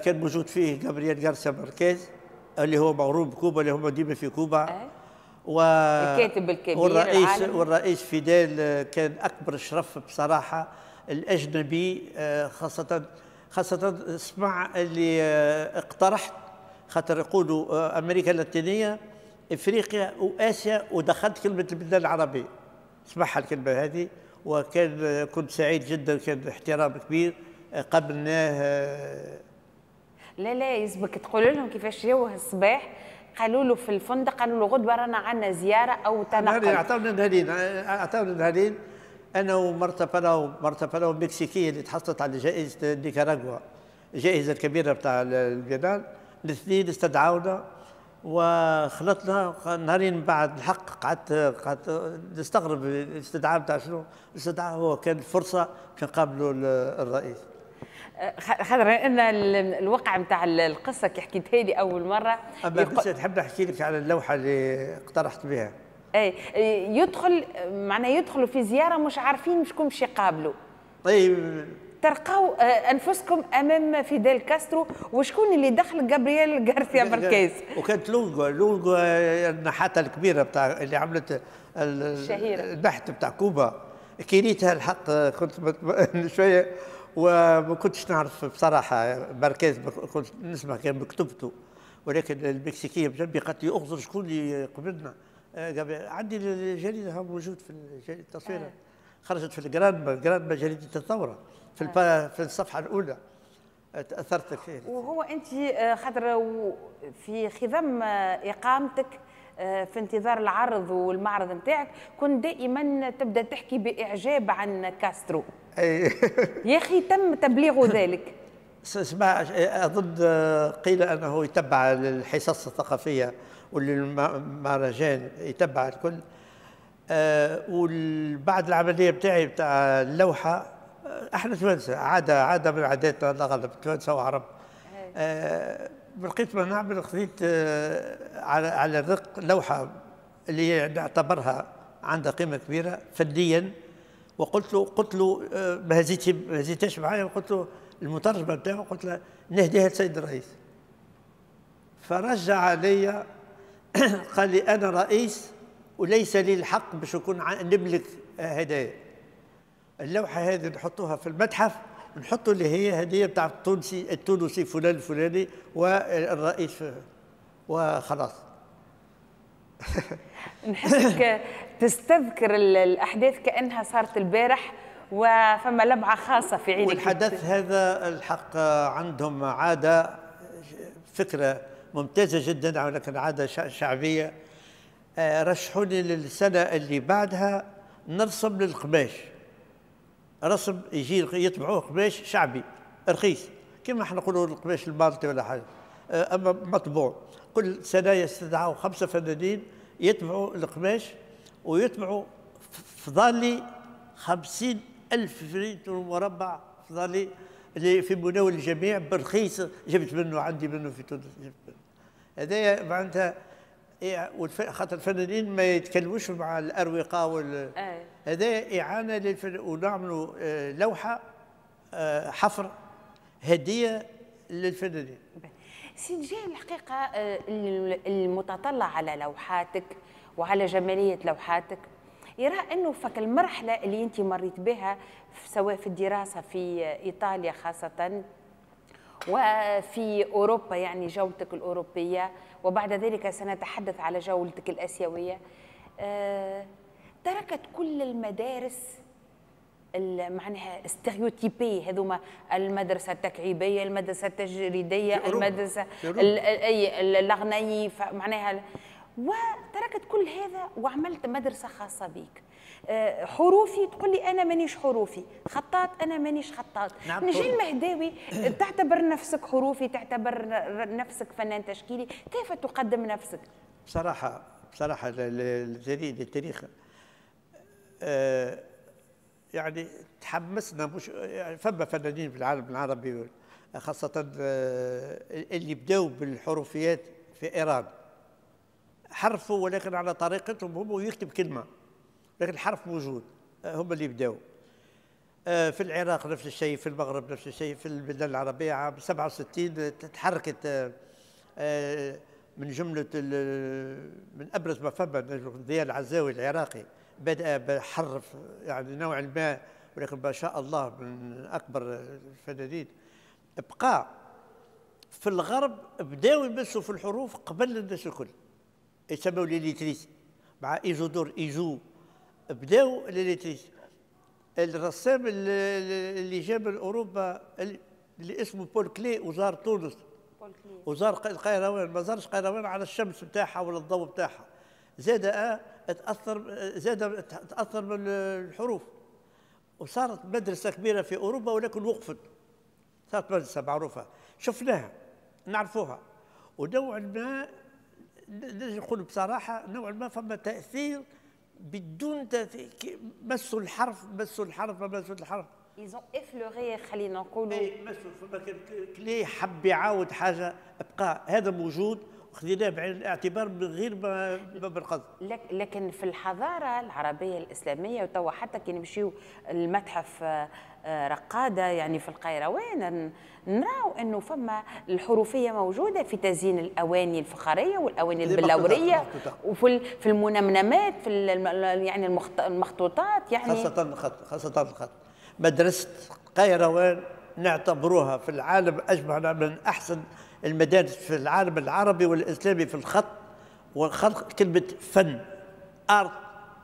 كان موجود فيه جابرييل غارسيا ماركيز اللي هو مغروم بكوبا، اللي هو ديما في كوبا. الكاتب الكبير والرئيس فيديل كان اكبر شرف بصراحة الاجنبي، خاصة سمع اللي اقترحت، خاطر يقولوا امريكا اللاتينية، افريقيا واسيا، ودخلت كلمة البلدان العربية، سمعها الكلمة هذه، وكان كنت سعيد جدا، كان احترام كبير قبلناه. لا لا يسبك تقول لهم كيفاش جاوه الصباح، قالوا له في الفندق، قالوا له غدوه رانا عندنا زيارة او تنقل. اعطونا نهارين، انا ومارتا بالاو، مارتا بالاو المكسيكيه اللي تحصلت على جائزة نيكاراغوا، الجائزة الكبيرة بتاع البينال، الاثنين استدعونا وخلطنا نهارين بعد. الحق قعدت نستغرب الاستدعاء بتاع شنو؟ الاستدعاء هو كان فرصة باش نقابلوا الرئيس. خاطر ان الوقع نتاع القصة كي حكيتها لي اول مرة. اما بس نحب نحكي لك على اللوحة اللي اقترحت بها. اي يدخل معناه يدخلوا في زيارة مش عارفين شكون باش يقابلوا. طيب ترقوا انفسكم امام فيديل كاسترو، وشكون اللي دخل؟ جابرييل غارسيا ماركيز. وكانت لونغو النحاته الكبيرة بتاع اللي عملت الشهيرة النحت بتاع كوبا، كيريتها الحق كنت شوية وما كنتش نعرف بصراحة ماركيز، كنت نسمع كان بكتبته، ولكن المكسيكيه بجنبي قالت لي اغزر شكون اللي قبلنا. عندي الجريدة موجود في التصوير، خرجت في الجرانما، جريدة الثورة في الصفحة الاولى. تاثرت كثير. وهو انت خاطر في خضم اقامتك في انتظار العرض والمعرض نتاعك كنت دائما تبدا تحكي باعجاب عن كاسترو. اي يا اخي تم تبليغ ذلك. اسمع، اظن قيل انه يتبع الحصص الثقافية والمهرجان، يتبع الكل. وبعد العملية بتاعي بتاع اللوحة، احنا توانسة عادة من عاداتنا الاغلب توانسة وعرب. لقيت ما نعمل، خذيت على الرق لوحة اللي نعتبرها عندها قيمة كبيرة فنيا، وقلت له ما هزيتهاش معايا، وقلت له المترجمة بتاعه، قلت له نهديها للسيد الرئيس. فرجع علي قال لي انا رئيس وليس لي الحق باش نكون نملك هدايا. اللوحة هذه نحطوها في المتحف، نحطوا اللي هي هديه بتاع التونسي فلان الفلاني والرئيس وخلاص. نحسك تستذكر الاحداث كانها صارت البارح، وفما لمعة خاصة في عينك. والحدث هذا الحق عندهم عادة، فكرة ممتازة جدا ولكن عادة شعبية. رشحوني للسنة اللي بعدها نرسم للقماش، رسم يجي يطبعوه قماش شعبي رخيص كما احنا نقولوا القماش المالطي ولا حاجة، اما مطبوع. كل سنة يستدعوا 5 فنانين يطبعوا القماش ويطبعوا فضالي 50,000 متر مربع فضالي اللي في مناول الجميع برخيص. جبت منه، عندي منه في تونس، جبت منه. هذايا معناتها خاطر الفنانين ما يتكلموش مع الاروقه وال هذا اعانه للفن. ونعملوا لوحة حفر هديه للفنانين. سيد جاي، الحقيقة المتطلع على لوحاتك وعلى جمالية لوحاتك يرى انه فك المرحلة اللي انت مريت بها سواء في الدراسة في ايطاليا خاصة وفي اوروبا، يعني جولتك الاوروبية، وبعد ذلك سنتحدث على جولتك الاسيوية، تركت كل المدارس معناها stéréotypées هذوما، المدرسة التكعيبيه، المدرسة التجريديه، المدرسة الغنائي، معناها، وتركت كل هذا وعملت مدرسه خاصة بك. حروفي تقول لي انا مانيش حروفي، خطاط انا مانيش خطاط. نعم. نجيب المهداوي تعتبر نفسك حروفي، تعتبر نفسك فنان تشكيلي، كيف تقدم نفسك؟ بصراحة للتاريخ يعني تحمسنا، مش يعني فما فنانين في العالم العربي خاصة اللي بداوا بالحروفيات في ايران، حرفوا ولكن على طريقتهم هم، ويكتب كلمة لكن الحرف موجود، هم اللي بداوا. في العراق نفس الشيء، في المغرب نفس الشيء، في البلدان العربية عام 67 تحركت من جملة من أبرز ما فما ضياء العزاوي العراقي، بدأ بحرف يعني نوعا ما، ولكن ما شاء الله من أكبر الفنانين. بقى في الغرب بداوا يمسوا في الحروف قبل الناس الكل، يسموا les lettristes مع إيزودور إيزو، بداوا les lettristes. الرسام اللي جاب من أوروبا اللي اسمه بول كلي وزار تونس، وزار القيروان، ما زارش قيروان على الشمس بتاعها ولا الضوء بتاعها، زاد تأثر من الحروف، وصارت مدرسة كبيرة في أوروبا ولكن وقفت. صارت مدرسة معروفة شفناها نعرفوها، ونوعا ما نقول بصراحة نوعا ما فما تأثير بدون تأثير، مسوا الحرف مسوا الحرف مسوا الحرف. Ils ont effleuré، خلينا نقولوا. اي مسوا، فما كلي حب يعاود حاجة، بقى هذا موجود وخذيناه بعين الاعتبار من غير ما بالقصد. لكن في الحضارة العربية الإسلامية، وتوا حتى كي نمشيو المتحف رقادة يعني في القيروان، نراو أنه فما الحروفية موجودة في تزيين الأواني الفخارية والأواني البلورية، وفي في المنمنمات، في يعني المخطوطات، يعني خاصة الخط، خاصة الخط. مدرسة قيروان نعتبروها في العالم أجمع من أحسن المدارس في العالم العربي والإسلامي في الخط وخلق كلمة فن art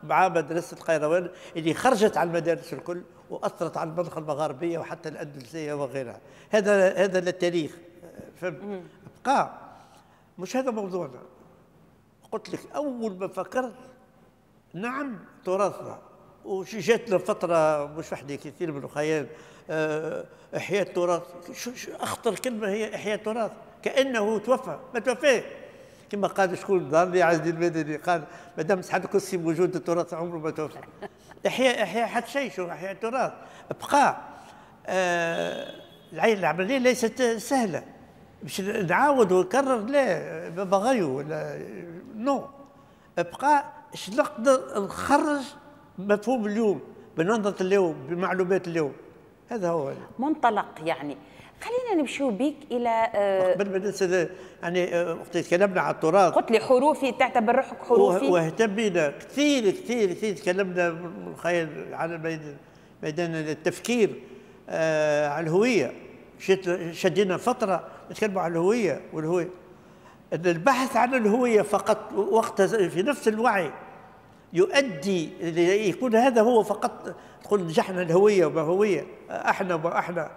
مع مدرسة القيروان اللي خرجت على المدارس الكل وأثرت على المنطقة المغاربية وحتى الأندلسية وغيرها. هذا للتاريخ. بقى مش هذا موضوعنا. قلت لك أول ما فكرت نعم تراثنا، وجاتنا فترة مش وحدي كثير من الخيال إحياء التراث. شو أخطر كلمة هي إحياء التراث، كأنه توفى، ما توفى. كما قال شكون ظهر عز الدين المدني، قال ما دام سحب الكرسي موجود التراث عمره ما توفى. إحياء حتى شيء، شو إحياء التراث؟ بقى العملية ليست سهلة باش نعاود ونكرر، لا بغيو ولا non. بقى اش نقدر نخرج مفهوم اليوم بنظرة اليوم بمعلومات اليوم، هذا هو منطلق. يعني خلينا نمشيو بيك الى قبل ما ننسى، يعني وقت تكلمنا على التراث قلت لي حروفي، تعتبر روحك حروفي؟ واهتمينا كثير كثير كثير، تكلمنا من خيال على ميدان التفكير على الهوية، شدينا فترة نتكلموا على الهوية والهوية، ان البحث عن الهوية فقط وقت في نفس الوعي يؤدي يكون هذا هو فقط، تقول نجحنا الهوية وما هوية احنا وما احنا،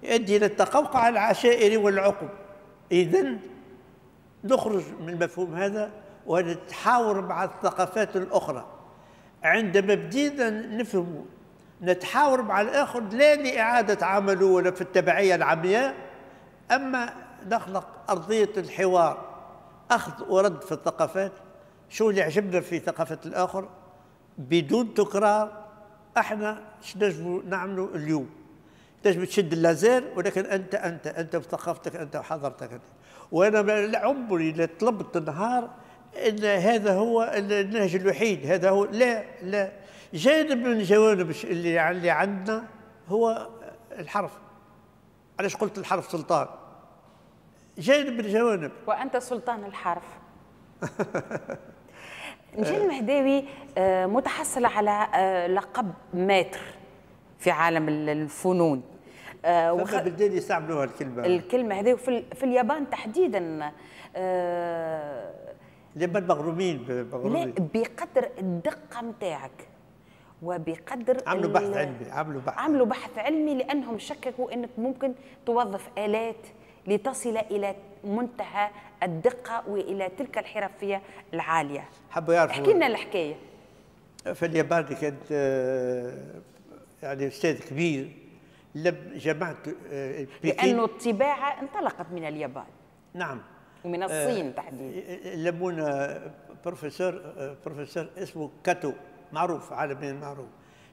يؤدي الى التقوقع العشائري والعقب. اذا نخرج من المفهوم هذا ونتحاور مع الثقافات الاخرى. عندما بدينا نفهم نتحاور مع الاخر لا لاعادة عمله ولا في التبعية العمياء، اما نخلق ارضية الحوار، اخذ ورد في الثقافات، شو اللي عجبنا في ثقافة الآخر بدون تكرار. احنا اش نجموا نعملوا اليوم؟ تنجم تشد اللازير، ولكن انت انت انت بثقافتك انت وحضرتك انت. وانا عمري لا طلبت نهار ان هذا هو النهج الوحيد، هذا هو، لا لا، جانب من جوانب اللي عندنا هو الحرف. علاش قلت الحرف سلطان؟ جانب من الجوانب، وانت سلطان الحرف. نجيب المهداوي متحصل على لقب maître في عالم الفنون. بلدان يستعملوها الكلمة، الكلمة هذه في اليابان تحديدا. اليابان مغرومين. لا، بقدر الدقة نتاعك وبقدر عملوا بحث علمي، عملوا بحث علمي، لأنهم شككوا أنك ممكن توظف آلات لتصل إلى منتهى الدقة وإلى تلك الحرفية العالية. حبوا يعرفوا. احكي لنا الحكاية. في اليابان كانت يعني أستاذ كبير لم جامعة بكين، لأنه الطباعة انطلقت من اليابان. نعم، ومن الصين تحديدا. لمونا بروفيسور اسمه كاتو، معروف عالميا معروف،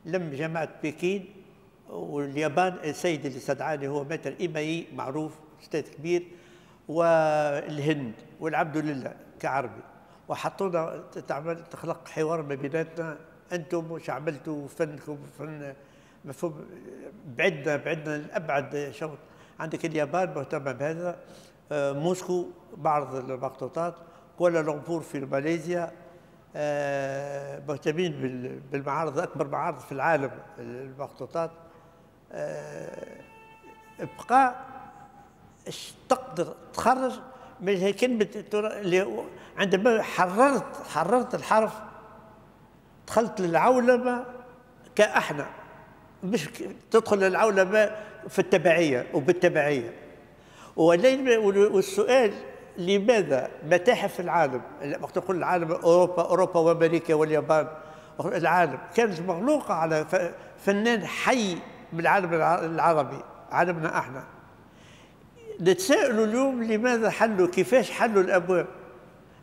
لم جامعة بكين واليابان. السيد اللي استدعاني هو maître إيماي، معروف أستاذ كبير، والهند والعبد لله كعربي، وحطونا تعمل تخلق حوار ما بيناتنا، انتم وش عملتوا فنكم فن مفهوم، بعدنا الابعد شوط. عندك اليابان مهتمة بهذا، موسكو معرض المخطوطات، كوالالمبور في ماليزيا مهتمين بالمعارض، اكبر معارض في العالم المخطوطات. بقى تقدر تخرج من هي كلمة اللي عندما حررت الحرف دخلت للعولمه كأحنا، مش تدخل للعولمه في التبعية وبالتبعيه. والسؤال لماذا متاحف العالم، وقت نقول العالم اوروبا وامريكا واليابان، العالم كانت مغلوقه على فنان حي من العالم العربي، عالمنا احنا. نتساءلوا اليوم لماذا حلوا، كيفاش حلوا الابواب؟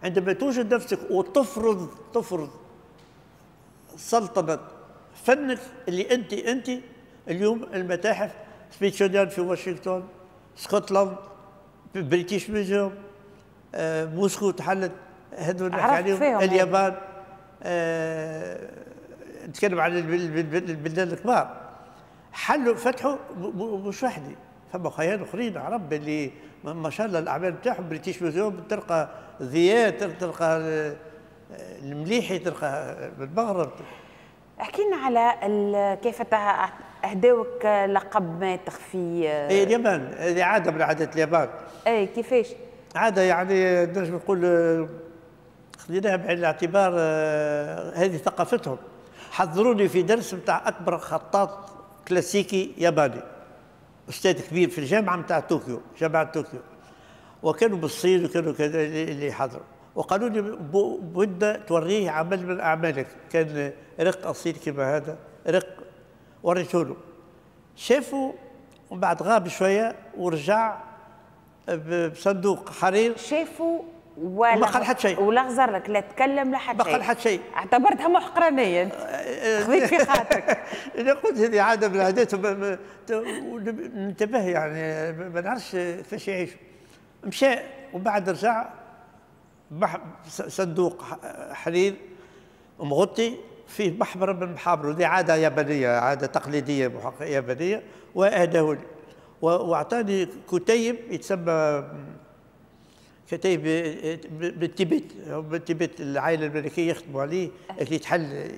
عندما توجد نفسك وتفرض سلطنة فنك اللي انت اليوم المتاحف سميثسونيان في واشنطن، اسكتلند، British Museum، موسكو تحلت، هذول نحكي عليهم، اليابان، نتكلم على البلدان الكبار حلوا فتحوا. مش وحدي، فما خيال اخرين عرب اللي ما شاء الله الاعمال بتاعهم. British Museum تلقى ضياء، تلقى المليحي، تلقى بالمغرب. احكي لنا على كيف اهداوك لقب maître في اي اليابان. هذه عادة من عادات اليابان. اي كيفاش؟ عادة يعني نجم نقول خذيناها بعين الاعتبار، هذه ثقافتهم. حضروني في درس نتاع اكبر خطاط كلاسيكي ياباني، استاذ كبير في الجامعة نتاع طوكيو، جامعه طوكيو، وكانوا بالصين وكانوا كذا اللي حضروا، وقالوا لي بدنا توريه عمل من اعمالك، كان رق اصيل كما هذا رق، وريته له، شافوا ومن بعد غاب شوية ورجع بصندوق حرير. شافوا ولا ما قال حتى شيء، ولا غزر لك، لا تكلم لا حتى شيء، ما قال حتى شيء. اعتبرتها محقرانيه خذيت في خاطرك. انا قلت هذه عادة من العادات، ننتبه يعني ما نعرفش كيفاش يعيشوا. مشى وبعد رجع صندوق حرير مغطي فيه محبره من محابره، هذه عادة يابانية، عادة تقليدية يابانية، واهداه لي واعطاني كتيب يتسمى كتيب بالتبت، بالتبت العائلة الملكية يخدموا عليه، اللي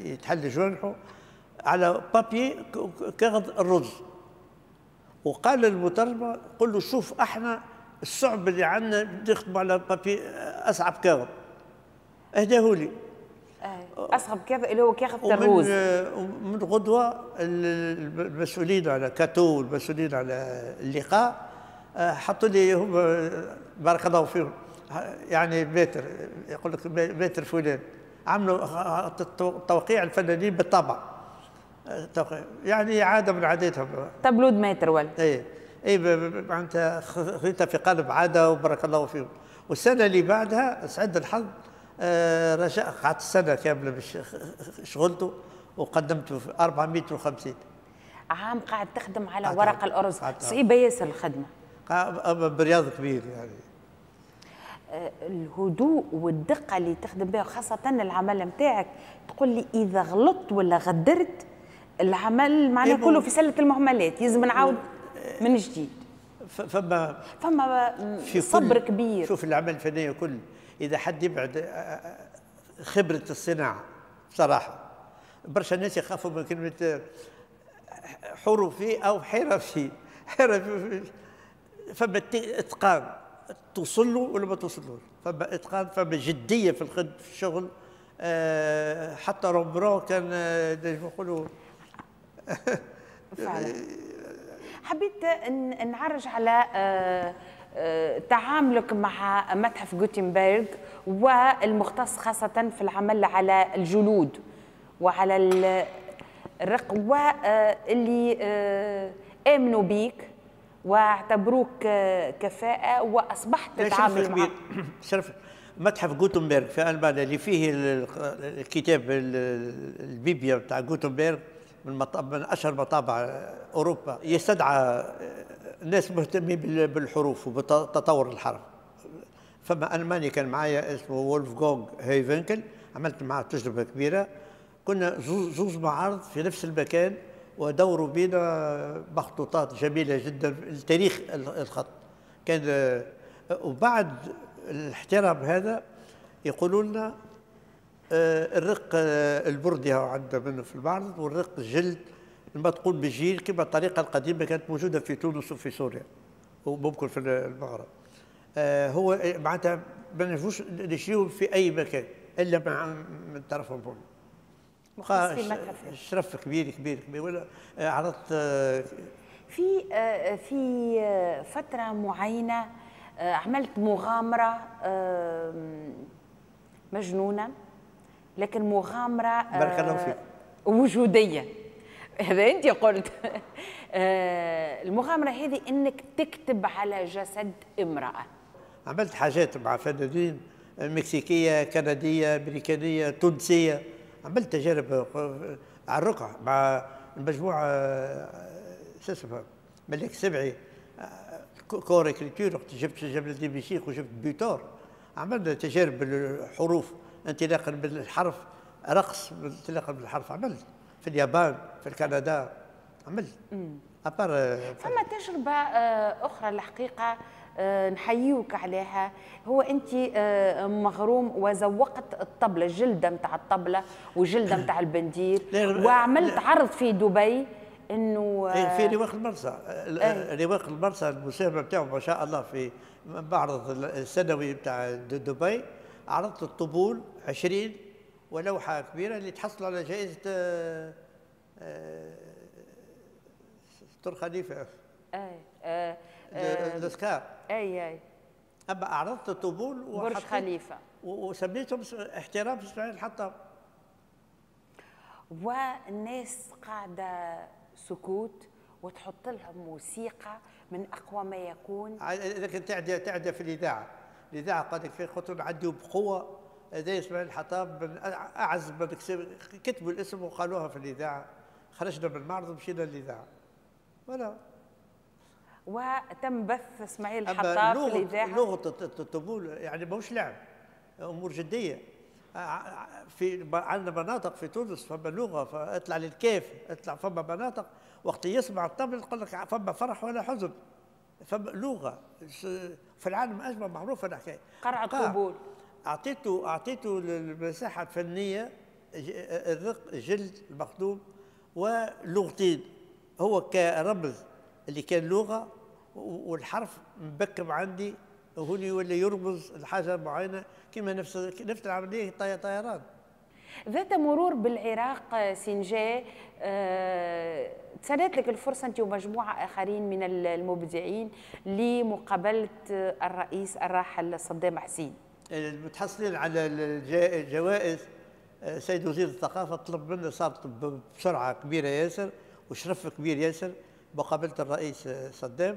يتحل جوانحه على بابي كغد الرز. وقال للمترجمه قل له شوف احنا الصعب اللي عندنا نخدموا على بابي اصعب كاغد. اهداه لي. اصعب كاغد اللي هو كاغد الرز. ومن غدوه المسؤولين على كاتو والمسؤولين على اللقاء حطوا لي هم بارك الله فيهم، يعني maître، يقول لك maître فلان، عملوا توقيع الفنانين بالطبع، يعني عادة من عاداتهم. tableau de maître ولا؟ اي اي معناتها خذيتها في قالب عادة وبارك الله فيهم. والسنة اللي بعدها سعد الحظ رجاء، قعدت السنة كاملة باش شغلته وقدمته في 450 عام قاعد تخدم على ورق الارز. صعيبة ياسر الخدمة، برياض كبير يعني. الهدوء والدقه اللي تخدم بها، خاصة العمل نتاعك، تقول لي اذا غلطت ولا غدرت العمل معناه كله في سله المهملات، لازم نعاود من جديد. فما صبر كبير. شوف العمل الفني كل اذا حد يبعد خبره الصناعة بصراحة، برشا ناس يخافوا من كلمة حرفي او حرفي، حرفي فما اتقان توصل له ولا ما توصلوش، فما اتقان، فما جدية في الخدمة في الشغل. حتى رومبرون كان نقولوا. فعلا. حبيت نعرج على تعاملك مع متحف غوتنبرغ والمختص خاصة في العمل على الجلود وعلى الرق، واللي آمنوا بيك واعتبروك كفاءة وأصبحت تتعامل معهم. شرف متحف غوتنبرغ في ألمانيا اللي فيه الكتاب البيبيا بتاع غوتنبرغ، من أشهر مطابع أوروبا، يستدعى ناس مهتمين بالحروف وبتطور الحرف. فما ألماني كان معايا اسمه وولفغانغ هيفنكل، عملت معاه تجربة كبيرة. كنا زوز معارض في نفس المكان، ودوروا بنا مخطوطات جميلة جدا التاريخ الخط كان. وبعد الاحترام هذا يقولوا لنا الرق البردي عندنا منه في المعرض، والرق الجلد المدقون بالجيل كما الطريقة القديمة كانت موجودة في تونس وفي سوريا وممكن في المغرب. هو معناتها ما نجموش نشريوه في اي مكان الا مع من طرفهم. شرف كبير كبير كبير. ولا عرضت في فترة معينة عملت مغامرة مجنونة، لكن مغامرة بارك الله فيك وجودية. هذا انت قلت. المغامرة هذه انك تكتب على جسد امراة. عملت حاجات مع فنانين مكسيكيه، كنديه، امريكانيه، تونسية. عملت تجارب على الرقعة مع المجموعة شو اسمها ملك سبعي corps écriture، وقت جبت جبل الدين بشيخ وجبت بيتور. عملنا تجارب بالحروف، انطلاقا بالحرف، رقص انطلاقا بالحرف. عملت في اليابان، في كندا، عملت. فما تجربة أخرى الحقيقة نحيوك عليها، هو أنت مغروم وزوقت الطبلة، الجلدة نتاع الطبلة والجلدة نتاع البندير، وعملت عرض في دبي انه في رواق المرسى. رواق المرسى المساهمة نتاعو ما شاء الله في معرض السنوي نتاع دبي، عرضت الطبول 20 ولوحه كبيرة اللي تحصلوا على جائزة ستر خليفة. اي الاوسكار. اي اي. اما عرضت الطبول برج خليفة وسميتهم احترام اسماعيل الحطاب. والناس قاعدة سكوت وتحط لهم موسيقى من اقوى ما يكون. لكن تعدى في الاذاعة، الاذاعة قالت لك في خطوة نعديو بقوة. هذا اسماعيل الحطاب من اعز من كتبوا الاسم وقالوها في الاذاعة. خرجنا من المعرض ومشينا للاذاعة. ولا وتم بث اسماعيل الحطاب في الاذاعة. لغة الطبول يعني ماهوش لعب، امور جدية. في عندنا مناطق في تونس فما لغة، فاطلع للكيف، اطلع فما مناطق وقت يسمع الطبل يقول لك فما فرح ولا حزن، فما لغة في العالم اجمع معروفة الحكاية. قرع الطبول. اعطيته المساحة الفنية، الرق الجلد المخدوم ولغتين، هو كرمز اللي كان لغة والحرف مبكم عندي هوني ولا يرمز لحاجة معينة، كما نفس العملية طيران. ذات مرور بالعراق سنجاء، تسنت لك الفرصة انت ومجموعة اخرين من المبدعين لمقابلة الرئيس الراحل صدام حسين. المتحصلين على الجوائز، سيد وزير الثقافة طلب منا، صارت بسرعة كبيرة ياسر وشرف كبير ياسر مقابله الرئيس صدام،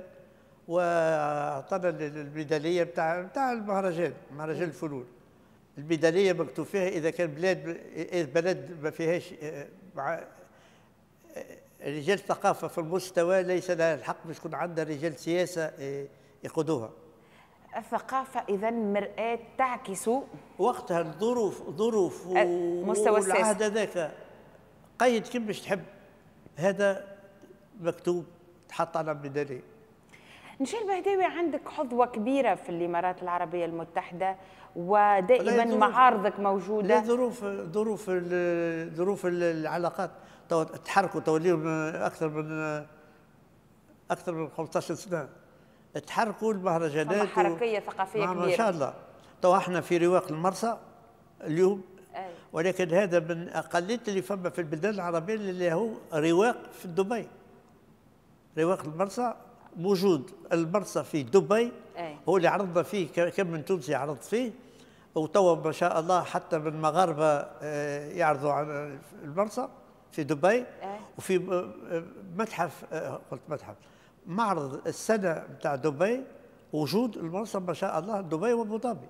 واعطانا الميداليه بتاع المهرجان، مهرجان الفنون. الميداليه مكتوب فيها اذا كان بلد ما فيهاش مع رجال ثقافة في المستوى ليس لها الحق باش يكون عندها رجال سياسة يقودوها. الثقافة اذا مرآة تعكس وقتها الظروف، ظروف مستوى السياسة والعهد هذاك قيد كيف باش تحب. هذا مكتوب تحط على ميدالية. نشال بهداوي، عندك حظوة كبيرة في الإمارات العربية المتحدة ودائما معارضك موجودة. لا، ظروف العلاقات تحركوا توليهم أكثر من 15 سنة، تحركوا المهرجانات، حركية ثقافية كبيرة ما شاء الله. تو احنا في رواق المرسى اليوم، ولكن هذا من أقلية اللي فما في البلدان العربية اللي هو رواق في دبي. رواق المرسى موجود، المرسى في دبي. هو اللي عرضنا فيه، كم من تونسي عرض فيه، وتوا ما شاء الله حتى من المغاربة يعرضوا على المرسى في دبي. وفي متحف، قلت متحف، معرض السنة نتاع دبي، وجود المرسى ما شاء الله دبي وابو ظبي،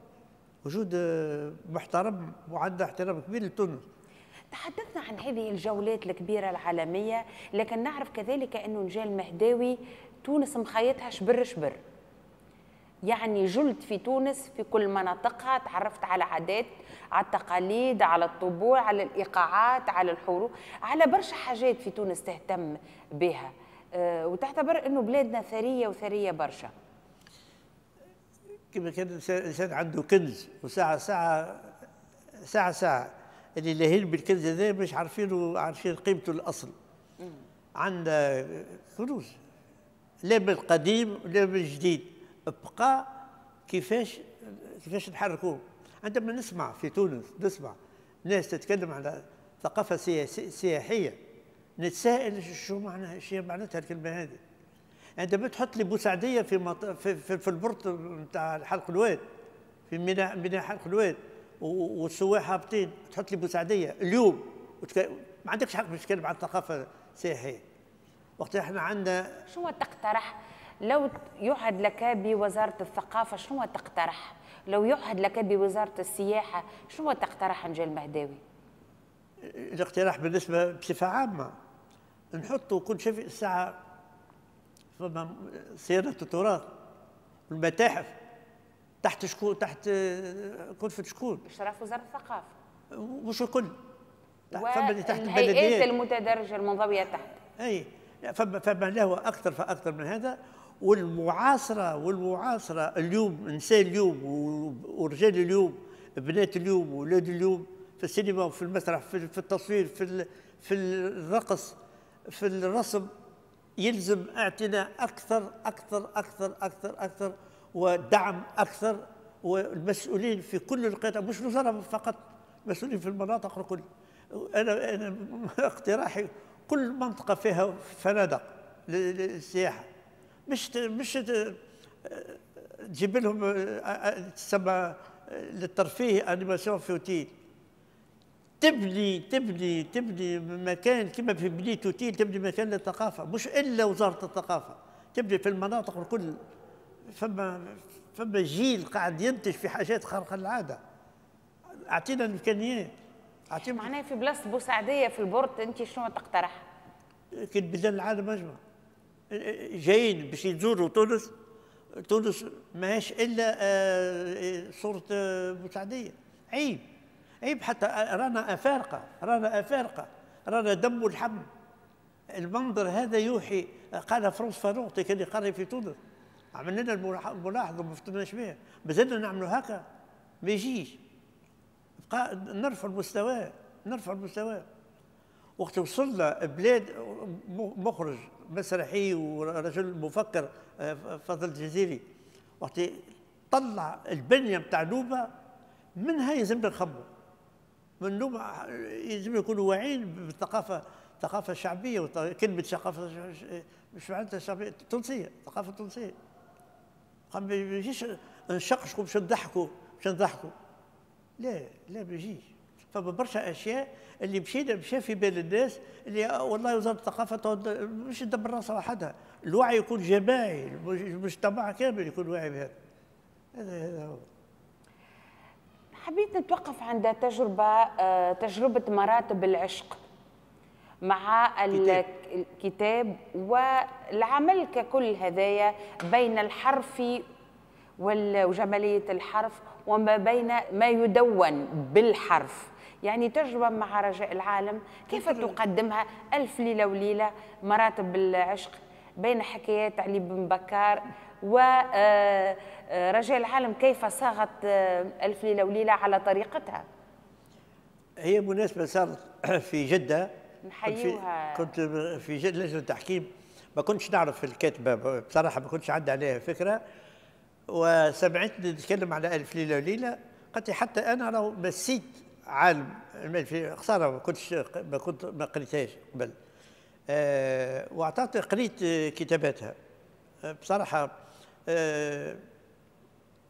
وجود محترم وعندنا احترام كبير لتونس. تحدثنا عن هذه الجولات الكبيرة العالمية، لكن نعرف كذلك أنه نجال المهداوي تونس مخيطها شبر شبر. يعني جلت في تونس في كل مناطقها، تعرفت على عادات، على التقاليد، على الطبوع، على الإيقاعات، على الحروب، على برشا حاجات في تونس تهتم بها، وتعتبر أنه بلادنا ثرية وثرية برشا. كما كان الإنسان عنده كنز، وساعة ساعة ساعة ساعة اللي لاهين بالكنز هذا مش عارفين قيمته الأصل. عندنا كنوز لا بالقديم لا بالجديد، بقى كيفاش نحركوه. عندما نسمع في تونس، نسمع ناس تتكلم على ثقافة سياحية، نتساءل شو معناها، شو معناتها الكلمة هذه. عندما تحط لي بوسعدية في في, في ال port نتاع حلق الواد، في ميناء حلق الواد، والسواح هابطين، تحط لي بوسعدية اليوم ما عندكش حق باش تتكلم على الثقافة السياحية. وقت احنا عندنا شنو تقترح لو يعهد لك بوزارة الثقافة؟ شنو تقترح لو يعهد لك بوزارة السياحة؟ شنو تقترح نجاة المهداوي؟ الاقتراح بالنسبة بصفة عامة نحطوا كل شيء في الساعة، فما صيانة التراث والمتاحف تحت شكون، تحت كلفة شكون؟ إشراف وزارة الثقافة. مش الكل، فما اللي تحت الهيئات المتدرجة المنضوية تحت. أي فما له أكثر فأكثر من هذا. والمعاصرة اليوم، إنسان اليوم ورجال اليوم، بنات اليوم وولاد اليوم، في السينما وفي المسرح، في التصوير، في الرقص، في الرسم، يلزم اعتناء أكثر أكثر أكثر أكثر أكثر ودعم أكثر، والمسؤولين في كل القطاع، مش الوزارة فقط، مسؤولين في المناطق الكل. أنا اقتراحي كل منطقة فيها فنادق للسياحة، مش تجيب لهم تسمى للترفيه animation في اوتيل. تبني تبني تبني مكان كما في بنيت اوتيل، تبني مكان للثقافة، مش الا وزارة الثقافة، تبني في المناطق الكل. فما جيل قاعد ينتج في حاجات خارقة للعادة. اعطينا الامكانيات. معناها في بلاصة بوسعديه في ال port انت شنو تقترح؟ كي بلدان العالم اجمع جايين باش يزوروا تونس، تونس ماهيش الا صوره بوسعديه. عيب عيب، حتى رانا افارقه، رانا افارقه، رانا دم ولحم. المنظر هذا يوحي، قال فرانس فانون كان يقري في تونس، عملنا لنا الملاحظة وما فطناش بها، مازلنا نعملوا هكا ما يجيش. بقى نرفع المستوى، نرفع المستوى. وقت وصلنا بلاد مخرج مسرحي ورجل مفكر فضل الجزيري، وقت طلع البنية نتاع نوبه، منها يلزمنا نخمو، من نوبه يلزم يكونوا واعيين بالثقافة، الثقافة الشعبية. كلمة ثقافة مش معناتها شعبية، تونسية، الثقافة التونسية. ما يجيش نشقشقوا باش نضحكوا، باش نضحكوا. لا لا ما يجيش. فما برشا اشياء اللي مشينا مشى في بال الناس اللي والله وزارة الثقافة مش تدبر راسها وحدها، الوعي يكون جماعي، المجتمع كامل يكون واعي بهذا. هذا هو. حبيت نتوقف عند تجربه مراتب العشق مع الكتاب والعمل ككل هذايا، بين الحرف وجمالية الحرف وما بين ما يدون بالحرف. يعني تجربة مع رجاء العالم كيف تقدمها؟ ألف ليلة وليلة، مراتب العشق، بين حكايات علي بن بكار ورجاء العالم، كيف صاغت ألف ليلة وليلة على طريقتها؟ هي مناسبة صارت في جدة، نحيوها. كنت في جدة لجنة التحكيم، ما كنتش نعرف الكاتبة بصراحة، ما كنتش عندي عليها فكرة، وسمعتني نتكلم على ألف ليلة وليلة، قالت لي حتى أنا لو مسيت عالم خسارة ما كنت ما قريتهاش قبل. وأعطتني قريت كتاباتها بصراحة.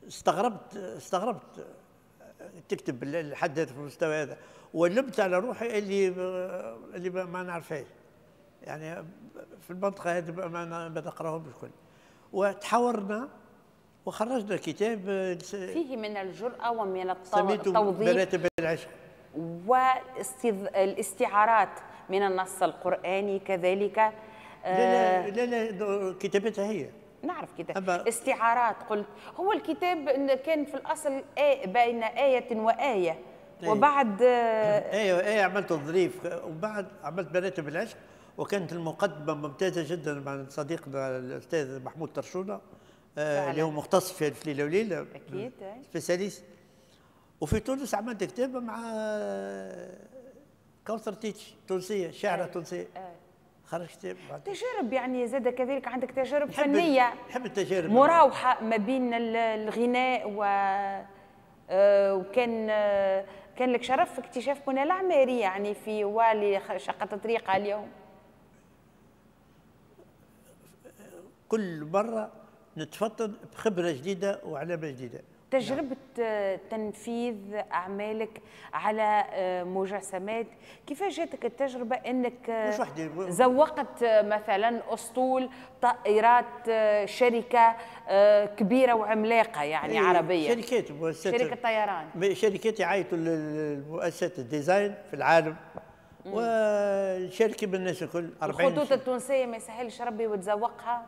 استغربت تكتب الحد في المستوى هذا، ولمت على روحي اللي ما نعرفهاش، يعني في المنطقة هذه ما نقراهم الكل. وتحاورنا وخرجنا كتاب فيه من الجرأة ومن التوضيح مراتب العشق والاستعارات من النص القرآني كذلك. لا لا لا، كتابتها هي. نعرف كتاب استعارات. قلت هو الكتاب كان في الاصل بين آية وآية. أيه. وبعد آية وآية عملت الظريف، وبعد عملت مراتب العشق، وكانت المقدمة ممتازة جدا مع صديقنا الأستاذ محمود طرشونة اللي هو مختص في ألف ليلة وليلة، أكيد spécialiste. وفي تونس عملت كتاب مع كوثر تيتش، تونسية، شاعرة تونسية. خرج كتاب. تجارب يعني زاد كذلك عندك تجارب فنية. نحب التجارب، مراوحة ما بين الغناء و وكان كان لك شرف في اكتشاف منى العماري يعني في والي شقت طريقها اليوم. كل مرة نتفطن بخبرة جديدة وعلامة جديدة. تجربة تنفيذ أعمالك على مجسمات، كيفاش جاتك التجربة أنك مش وحدي زوقت مثلا أسطول طائرات شركة كبيرة وعملاقة يعني عربية؟ شركات، مؤسسات، شركة طيران، شركات يعيطوا لمؤسسات ال design في العالم ونشارك بالناس الكل. 40 الخطوط التونسية ما يسهلش ربي وتزوقها؟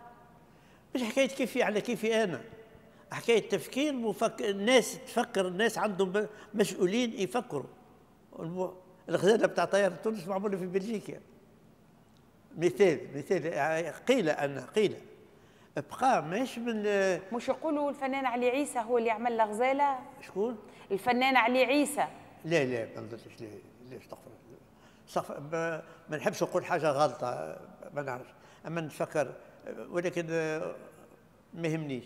مش حكاية كيفي على كيفي أنا، حكاية تفكير الناس تفكر، الناس عندهم مسؤولين يفكروا. الغزالة بتاع طيارة تونس معمولة في بلجيكا. مثال قيل أن قيل بقى ماهيش من، مش يقولوا الفنان علي عيسى هو اللي عمل الغزالة؟ شكون؟ الفنان علي عيسى. لا لا ما نظنش، لا استغفر الله، ما نحبش نقول حاجة غلطة، ما نعرفش، أما نتفكر، ولكن ما يهمنيش.